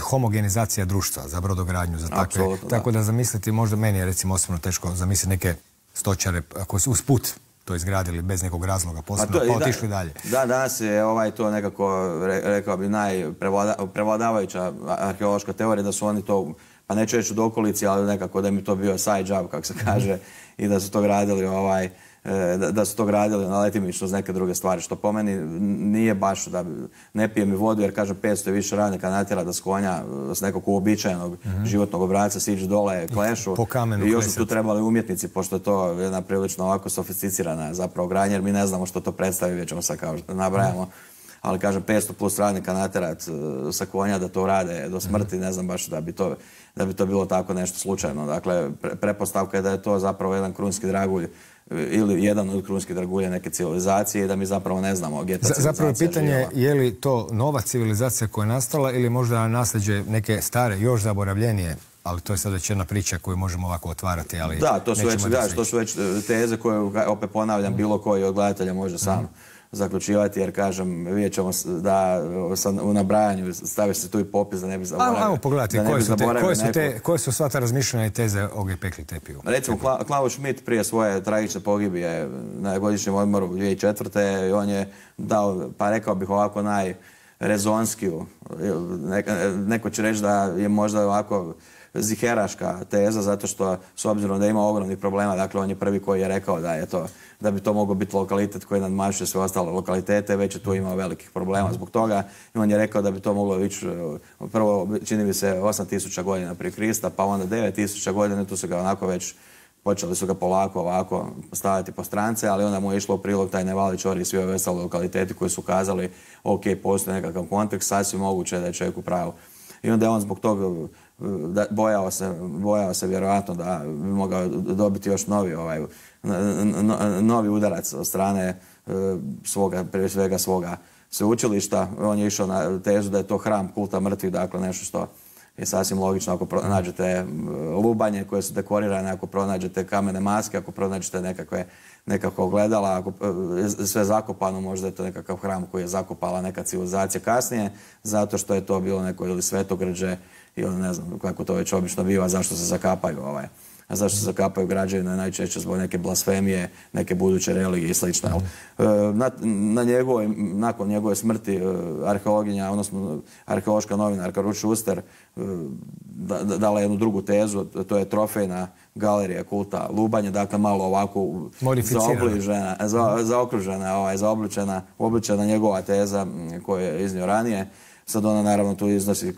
[SPEAKER 1] homogenizacija društva za brodogradnju, za takve. Tako da zamisliti, možda meni je recimo osobno teško zamisliti neke stočare koji su usput to izgradili bez nekog razloga posebno, pa otišli dalje.
[SPEAKER 2] Da, danas je to nekako, rekao bi, najprevladavajuća arheološka teorija da su oni to, pa neću reći u dokolici, ali nekako da mi to bio side job, kako se kaže, i da su to gradili na letimično uz neke druge stvari, što po meni nije baš da ne pije mi vodu, jer kažem 500 i više radnika natjera da s konja, s nekog uobičajenog životnog obrasca siđu dole, klešu. I još su tu trebali umjetnici, pošto je to jedna prilično ovako sofisticirana zapravo gradnja, jer mi ne znamo što to predstavi, već ćemo sad kao nabrajamo. Ali kažem 500 plus radnika natjerat sa konja da to rade do smrti, ne znam baš da bi to bilo tako nešto slučajno. Dakle, pretpostavka je da je to zapravo jedan krunski dragulj ili jedan od krunskih dragulja neke civilizacije i da mi zapravo ne znamo gdje ta civilizacija
[SPEAKER 1] zapravo pitanje je li to nova civilizacija koja je nastala ili možda nasljeđe neke stare, još zaboravljenije, ali to je sad već jedna priča koju možemo ovako otvarati, ali
[SPEAKER 2] da, to su već teze koje, opet ponavljam, bilo koji od gledatelja može sam zaključivati, jer kažem, vidjet ćemo da u nabrajanju staviš se tu i popis da ne bi zaboravio.
[SPEAKER 1] Ajmo pogledati, koje su sva ta razmišljanja i teze o Göbekli Tepiju?
[SPEAKER 2] Recimo, Klaus Schmidt prije svoje tragične pogibije na godišnjem odmoru 2004. on je dao, pa rekao bih ovako najrezonskiju, neko će reći da je možda ovako ziheraška teza, zato što s obzirom da ima ogromnih problema, dakle on je prvi koji je rekao da bi to mogao biti lokalitet koji nadmašuje sve ostale lokalitete, već je tu imao velikih problema zbog toga i on je rekao da bi to moglo ići prvo, čini mi se, 8000 godina prije Krista, pa onda 9000 godina, tu su ga onako već počeli su ga polako ovako staviti po strance, ali onda mu je išlo u prilog taj Nevali Čori i svi ove ostale lokaliteti koji su ukazali ok, postoji nekakav kontekst, sasvim moguće da je čovjek u pravu. I onda je on zbog toga bojao se vjerojatno da bi mogao dobiti još novi udarac od strane prije svega svoga sveučilišta. On je išao na tezu da je to hram kulta mrtvih, dakle nešto što je sasvim logično ako pronađete lubanje koje su dekorirane, ako pronađete kamene maske, ako pronađete nekakva ogledala, ako sve zakopano, možda je to nekakav hram koji je zakopala neka civilizacija kasnije, zato što je to bilo neko ili svetogrđe ili ne znam kako to već obično biva, zašto se zakapaju A zašto se zakapaju građevine? Najčešće zbog neke blasfemije, neke buduće religije i slično. Nakon njegove smrti arheologinja, odnosno arheološka novinarka Ruth Schuster dala jednu drugu tezu, to je trofejna galerija kulta lubanje, dakle malo ovako zaobličena njegova teza koju je iznio ranije. Sad ona naravno tu iznosi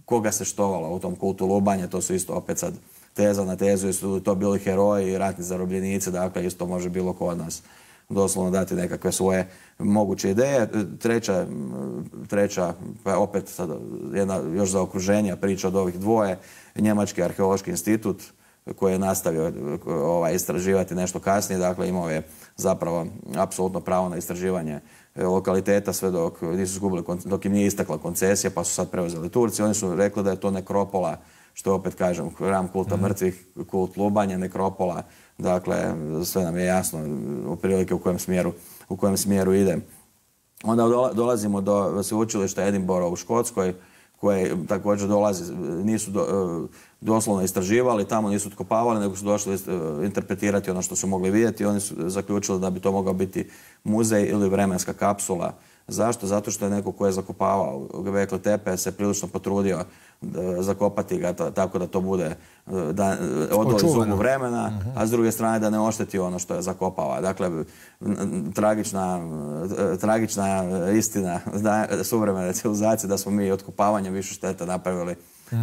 [SPEAKER 2] koga se štovala u tom kultu lubanje, to su isto opet sad teza na tezu, su to bili heroji i ratni zarobljenici, dakle isto može bilo ko od nas doslovno dati nekakve svoje moguće ideje. Treća, pa opet sad jedna još zaokruženja priča od ovih dvoje, Njemački arheološki institut koji je nastavio istraživati nešto kasnije, dakle imao je zapravo apsolutno pravo na istraživanje lokaliteta sve dok im nije istakla koncesija, pa su sad preuzeli Turci. Oni su rekli da je to nekropola, što opet kažem, hram kulta mrtvih, kult lubanja, nekropola. Dakle, sve nam je jasno otprilike u kojem smjeru ide. Onda dolazimo do sveučilišta Edinburgh u Škotskoj, koje također nisu doslovno istraživali, tamo nisu otkopavali, nego su došli interpretirati ono što su mogli vidjeti. Oni su zaključili da bi to mogao biti muzej ili vremenska kapsula. Zašto? Zato što je neko ko je zakopavao Göbekli Tepe se prilično potrudio zakopati ga tako da to bude odvoli zubu vremena, a s druge strane da ne ošteti ono što je zakopava. Dakle, tragična istina suvremene civilizacije da smo mi otkopavanjem više štete napravili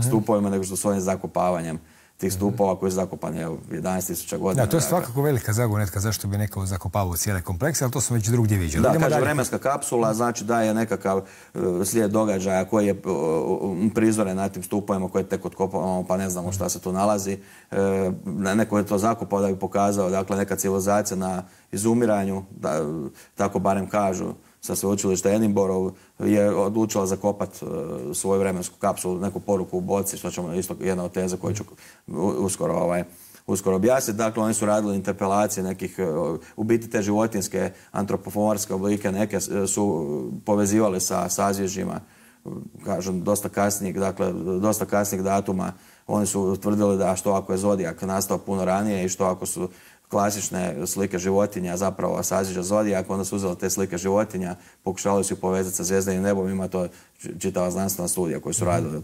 [SPEAKER 2] stupovima nego što s ovim zakopavanjem tih stupova koji su zakopani 11.000 godina.
[SPEAKER 1] Da, to je svakako velika zagonetka zašto bi neko zakopavao cijele komplekse, ali to smo već drugdje viđali.
[SPEAKER 2] Da, kaže vremenska kapsula, znači da je nekakav slijed događaja koji je prizoren na tim stupovima koje tek otkopavamo, pa ne znamo šta se tu nalazi. Neko je to zakopao da bi pokazao, dakle, neka civilizacija na izumiranju, tako barem kažu, sa sveučilišta Edinburgh je odlučila zakopati svoju vremensku kapsulu, neku poruku u boci, što ćemo isto jedna od teza koju ću uskoro objasniti. Dakle, oni su radili interpelacije nekih, u biti te životinjske antropomorfske oblike, neke su povezivali sa sazvježdjima, kažem, dosta kasnijeg datuma. Oni su utvrdili da što ako je zodijak nastao puno ranije i što ako su klasične slike životinja, zapravo sazvježđa zodijak, onda su uzeli te slike životinja, pokušali su ih povezati sa zvjezdanim nebom, ima to čitava znanstvena studija koju su radili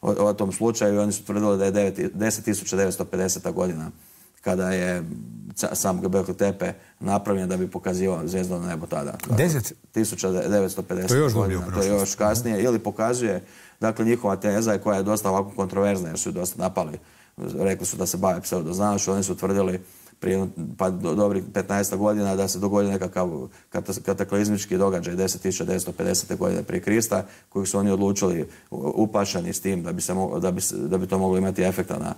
[SPEAKER 2] o tom slučaju i oni su tvrdili da je 10.950. godina kada je sam Göbekli Tepe napravljen da bi pokazivao zvijezdano nebo tada. 10.950.
[SPEAKER 1] To je još
[SPEAKER 2] godina, to je još kasnije. Ili pokazuje, dakle, njihova teza koja je dosta ovako kontroverzna jer su ju dosta napali. Rekli su da se bave pseudoznanošću, oni su tvrdili prije dobrih 15 godina da se dogodio nekakav kataklizmički događaj 10.950. godine prije Krista, kojeg su oni odlučili uplašeni s tim da bi to moglo imati efekta na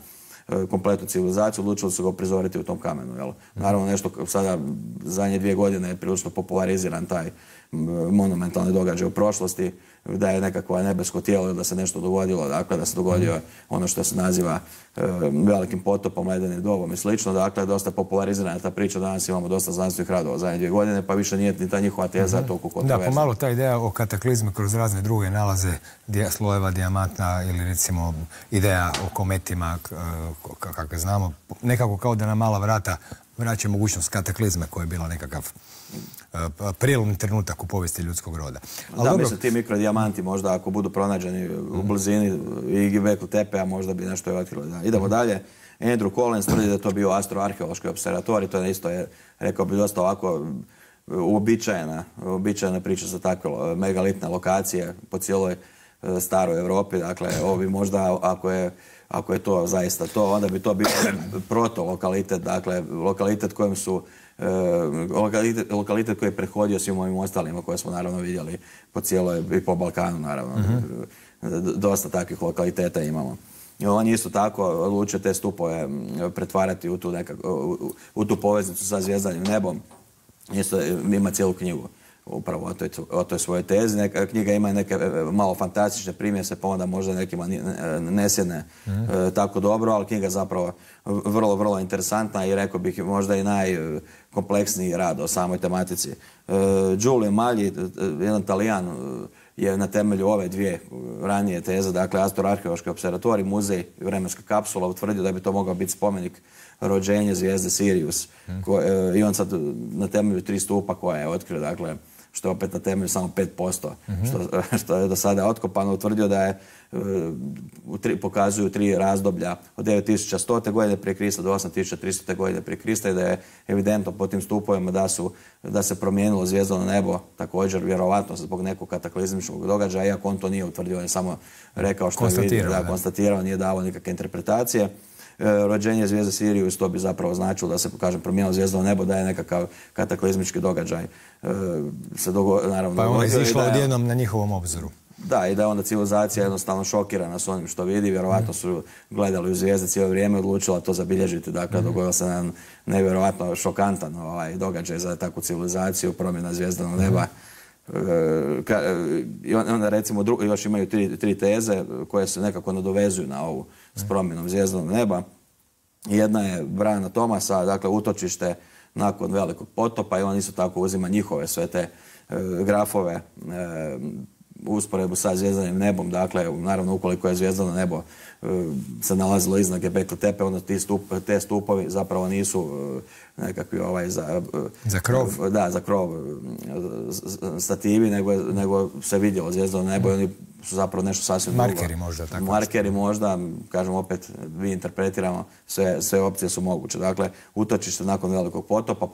[SPEAKER 2] kompletnu civilizaciju, odlučili su ga prizoriti u tom kamenu. Naravno, nešto sada zadnje 2 godine je prilično populariziran taj monumentalni događaj u prošlosti, da je nekakvo nebesko tijelo da se nešto dogodilo, dakle da se dogodio ono što se naziva velikim potopom, ledenim dobom i slično. Dakle, dosta popularizirana ta priča, danas imamo dosta znanstvenih radova zadnje 2 godine, pa više nije ni ta njihova teza toliko kontroverzna.
[SPEAKER 1] Da, pomalo ta ideja o kataklizmi kroz razne druge nalaze slojeva dijamantna ili recimo ideja o kometima, kakve znamo, nekako kao da na mala vrata vraća mogućnost kataklizme koja je bila nekakav prijelomni trenutak u povijesti ljudskog roda.
[SPEAKER 2] Da, mislim, ti mikrodijamanti možda ako budu pronađeni u blizini i Göbekli Tepe, a možda bi nešto je otkrilo. Idemo dalje. Andrew Collins tvrdi da je to bio astroarheološki observatorij, to je isto, rekao bi, dosta ovako uobičajena priča za takve megalitne lokacije po cijeloj staroj Europi. Dakle, ovo bi možda, ako je to zaista to, onda bi to bio proto-lokalitet, dakle, lokalitet kojem su lokalitet koji je prehodio svim ovim ostalima koje smo naravno vidjeli po cijeloj i po Balkanu naravno. dosta takvih lokaliteta imamo. I on isto tako odlučio te stupove pretvarati u tu poveznicu sa zvjezdanim nebom. Isto ima cijelu knjigu upravo o toj svojoj tezi. Knjiga ima neke malo fantastične primjese, pa onda možda nekima ne sjedne tako dobro, ali knjiga zapravo vrlo, vrlo interesantna i rekao bih možda i najkompleksniji rad o samoj tematici. Giulio Magli, jedan Talijan, je na temelju ove dvije ranije teze, dakle Astroarheološki observatorij, muzej i vremenska kapsula, utvrdio da bi to mogao biti spomenik rođenja zvijezde Sirius. I on sad na temelju 3 stupa koje je otkrio, dakle, što je opet na temelju samo 5%, što je do sada otkopano, utvrdio da je, pokazuju 3 razdoblja od 9100. godine prije Krista do 8300. godine prije Krista i da je evidentno po tim stupovima da se promijenilo zvijezdano nebo, također vjerovatno zbog nekog kataklizmičkog događaja, iako on to nije utvrdio, on je samo rekao što je vidio, konstatirao, nije dao nikakve interpretacije. Rođenje zvijezde Sirius, to bi zapravo značilo da se, kažem, promijenilo zvijezdano nebo, da je nekakav kataklizmički događaj naravno
[SPEAKER 1] pa je ona izišla odjednom na njihovom obzoru.
[SPEAKER 2] Da, i da je onda civilizacija jednostavno šokirana s onim što vidi, vjerovatno su gledali u zvijezde cijelo vrijeme, odlučila to zabilježiti, dakle dogodio se nam nevjerovatno šokantan događaj za takvu civilizaciju, promjena zvijezdanog neba. I onda recimo još imaju 3 teze koje se nekako nadovezuju na ovu s promjenom zvijezdanog neba. Jedna je Briana Thomasa, dakle utočište nakon velikog potopa i on isto tako uzima njihove sve te grafove usporedbu sa zvjezdanim nebom, dakle naravno ukoliko je zvjezdano nebo se nalazilo iznad Göbekli Tepe, onda te stupovi zapravo nisu nekakvi
[SPEAKER 1] za krov?
[SPEAKER 2] Da, za krov stativi, nego se vidjelo zvijezdano nebo i oni su zapravo nešto sasvim drugo.
[SPEAKER 1] Markeri možda, tako.
[SPEAKER 2] Markeri možda, kažem opet, vi interpretiramo, sve opcije su moguće. Dakle, utočište nakon velikog potopa,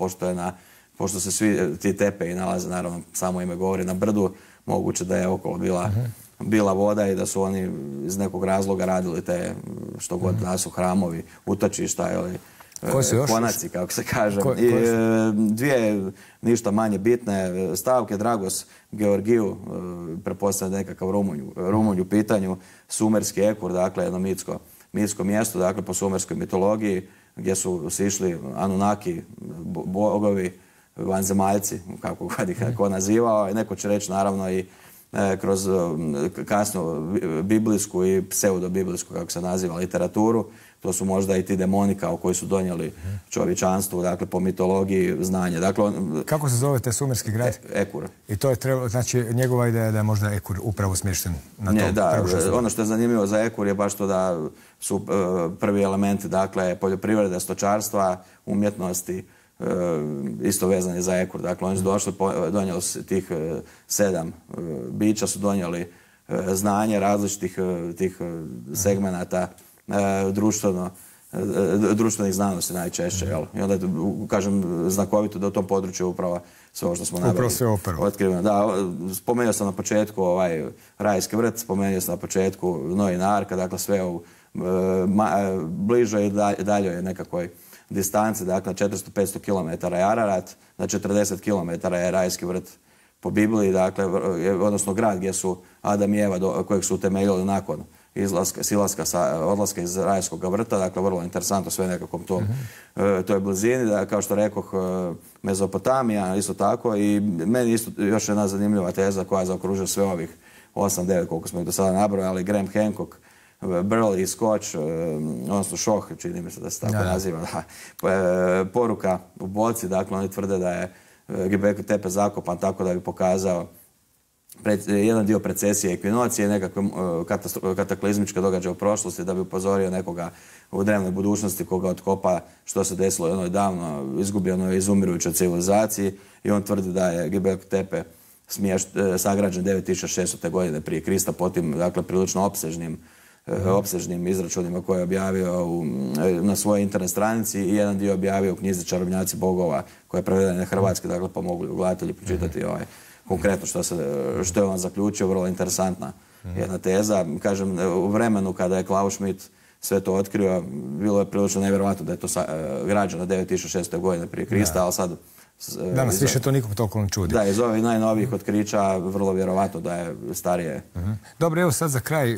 [SPEAKER 2] pošto se svi ti tepeji nalaze, naravno, samo ime govori, na brdu, moguće da je okolo bila voda i da su oni iz nekog razloga radili te, što god da su hramovi, utočišta ili konaci, kako se kaže. I dvije ništa manje bitne stavke. Dragos Georgiju, pretpostavljam nekakav Rumunj u pitanju, sumerski Ekur, dakle jedno mitsko mjesto, dakle po sumerskoj mitologiji, gdje su sišli Anunnaki, bogovi, vanzemaljci, kako god ih neko nazivao, i neko će reći naravno i kroz kasnu biblijsku i pseudobiblijsku, kako se naziva, literaturu. To su možda i ti demoni koji su donijeli čovječanstvu, dakle po mitologiji znanje. Dakle,
[SPEAKER 1] kako se zove taj sumerski grad?
[SPEAKER 2] Ekur.
[SPEAKER 1] I to je trebalo, znači njegova ideja da je možda Ekur upravo smješten na tom?
[SPEAKER 2] Da, ono što je zanimljivo za Ekur je baš to da su prvi elementi, dakle, poljoprivrede, stočarstva, umjetnosti, isto vezani za Ekur. Dakle, oni su došli, donijeli tih 7 bića, su donijeli znanje različitih tih segmenata društvenih znanosti najčešće. I onda, kažem, znakovito da u tom području upravo sve ovo što smo nabili otkriveno. Da, spomenuo sam na početku Rajski vrt, spomenuo sam na početku Noina arka, dakle sve u bližoj i daljoj nekakvoj distanci, dakle 400-500 km je Ararat, na 40 km je Rajski vrt po Bibliji, dakle, odnosno grad gdje su Adam i Eva, kojeg su utemeljili nakon odlaska iz Rajskog vrta, dakle vrlo interesantno sve nekakvom toj blizini, da, kao što rekoh, Mezopotamija isto tako, i meni isto još jedna zanimljiva teza koja zaokružuje sve ovih 8-9 koliko smo ih do sada nabrojali, Graham Hancock, Burley, Scotch, odnosno Šoh, čini mi se da se tako naziva, poruka u boci, dakle oni tvrde da je Göbekli Tepe zakopan tako da bi pokazao jedan dio precesije ekvinocije, nekakve kataklizmičke događaje u prošlosti, da bi upozorio nekoga u drevnoj budućnosti koga otkopa što se desilo jednoj davno izgubljenoj, izumirujućoj civilizaciji, i on tvrdi da je Göbekli Tepe sagrađen 9600. godine prije Krista, po tim, dakle, prilično opsežnim izračunima koje je objavio na svojoj internet stranici, i jedan dio objavio u knjizi Čarobnjaci bogova, koja je prevedena na hrvatski, dakle pa mogu gledatelji pročitati konkretno što je on zaključio, vrlo interesantna jedna teza. Kažem, u vremenu kada je Klaus Schmidt sve to otkrio, bilo je prilično nevjerojatno da je to građeno 9600. godine prije Krista, ali sad
[SPEAKER 1] Danas više to nikom toliko ne čudi.
[SPEAKER 2] Da, iz ovih najnovijih otkrića vrlo vjerovatno da je starije.
[SPEAKER 1] Dobro, evo sad za kraj,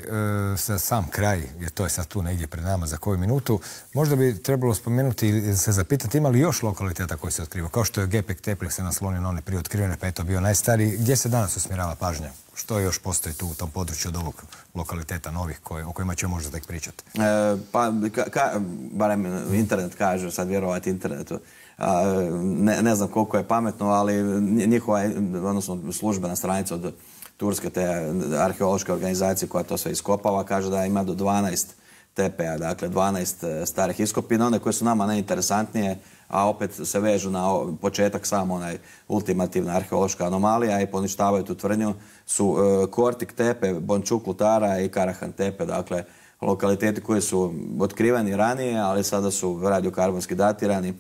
[SPEAKER 1] za sam kraj, jer to je sad tu negdje pred nama za koju minutu, možda bi trebalo spomenuti ili se zapitati ima li još lokaliteta koji se otkrivaju, kao što je Gepek Teplih se naslonio na one prije otkrivene, pa je to bio najstariji. Gdje se danas usmjerava pažnja? Što još postoji tu u tom području od ovog lokaliteta novih o kojima ćemo možda tek pričati?
[SPEAKER 2] Pa, barem internet kaže, sad vjerovati internetu, ne znam koliko je pametno, ali njihova, odnosno službena stranica od turske te arheološke organizacije koja to sve iskopava, kaže da ima do 12 tepeja, dakle 12 starih iskopina, one koje su nama najinteresantnije, a opet se vežu na početak samo onaj ultimativna arheološka anomalija i poništavaju tu tvrdnju, su Kortik tepe, Bončuk Lutara i Karahan tepe, dakle lokaliteti koji su otkriveni ranije, ali sada su radiokarbonski datirani.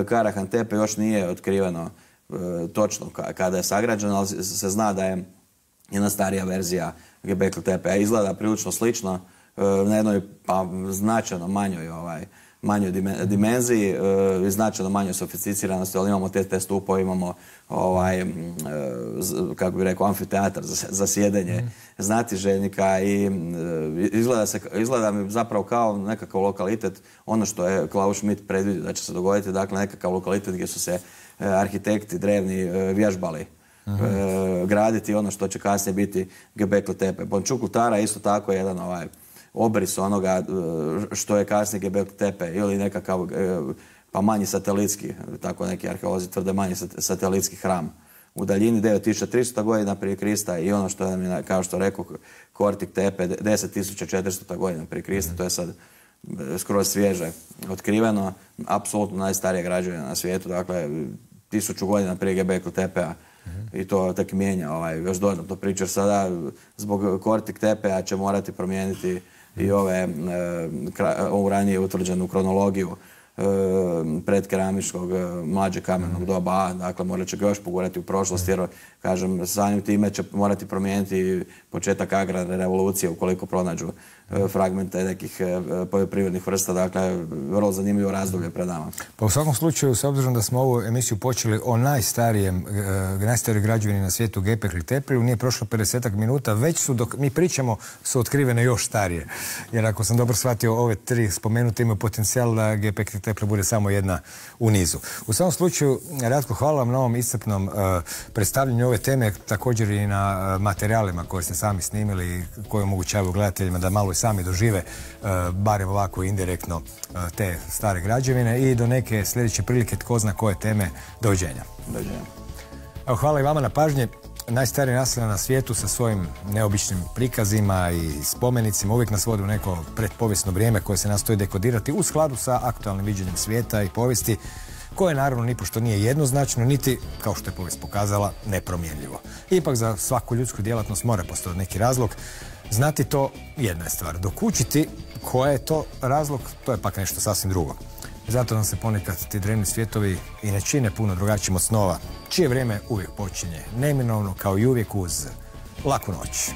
[SPEAKER 2] Karahan tepe još nije otkriveno točno kada je sagrađeno, ali se zna da je jedna starija verzija Göbekli tepe. Izgleda prilično slično, na jednoj značajno manjoj dimenziji i značajno manjoj sofisticiranosti, ali imamo te stupove, imamo kako bih rekao, amfiteatar za sjedenje znatiželjnika i izgleda mi zapravo kao nekakav lokalitet, ono što je Klaus Schmidt predvidio da će se dogoditi, dakle nekakav lokalitet gdje su se arhitekti drevni vježbali graditi ono što će kasnije biti Göbekli tepe. Bončuk Lutara isto tako je jedan obris onoga što je kasnije Göbekli tepe ili nekakav pa manji satelitski, tako neki arheolozi tvrde, manji satelitski hram u daljini 9300 godina prije Krista i ono što je, kao što rekao, Kortik tepe 10.400 godina prije Krista, to je sad skroz svježe otkriveno, apsolutno najstarija građevina na svijetu, dakle 1000 godina prije Göbekli tepea. I to tek mijenja još dodatno priču, jer sada zbog Kortik tepea će morati promijeniti i ovu ranije utvrđenu kronologiju predkeramičkog mlađeg kamenog doba, dakle morat će ga još pogurati u prošlost, jer kažem, samim time će morati promijeniti početak agrarne revolucije ukoliko pronađu fragmente nekih poljoprivrednih vrsta, dakle vrlo zanimljivo razdoblje pred nama.
[SPEAKER 1] Pa u svakom slučaju, s obzirom da smo ovu emisiju počeli o najstarijoj građevini na svijetu Göbekli tepe, nije prošlo 50 minuta, već su, dok mi pričamo, su otkrivene još starije. Jer ako sam dobro shvatio, ove tri spomenute imaju potencijal da Göbekli tepe bude samo jedna u nizu. U svakom slučaju, Ratko, hvala vam na ovom iscrpnom predstavljanju ove teme, također i na materijalima koje ste sami snimili, koje omogućavaju gledateljima da malo i sami dožive, barem ovako indirektno, te stare građevine i do neke sljedeće prilike, tko zna koje teme, doviđenja. Evo, hvala i vama na pažnji. Najstarije naselje na svijetu sa svojim neobičnim prikazima i spomenicima uvijek nas vodi u neko predpovijesno vrijeme koje se nastoji dekodirati u skladu sa aktualnim viđenjem svijeta i povijesti, koje naravno nipošto nije jednoznačno, niti, kao što je povijest pokazala, nepromjenljivo. Ipak za svaku ljudsku djelatnost mora postojati neki razlog. Znati to jedna je stvar. Dok učiti koja je to razlog, to je pak nešto sasvim drugo. Zato nam se ponekad ti drevni svijetovi i ne čine puno drugačijim od snova, čije vrijeme uvijek počinje neminovno, kao i uvijek uz laku noć.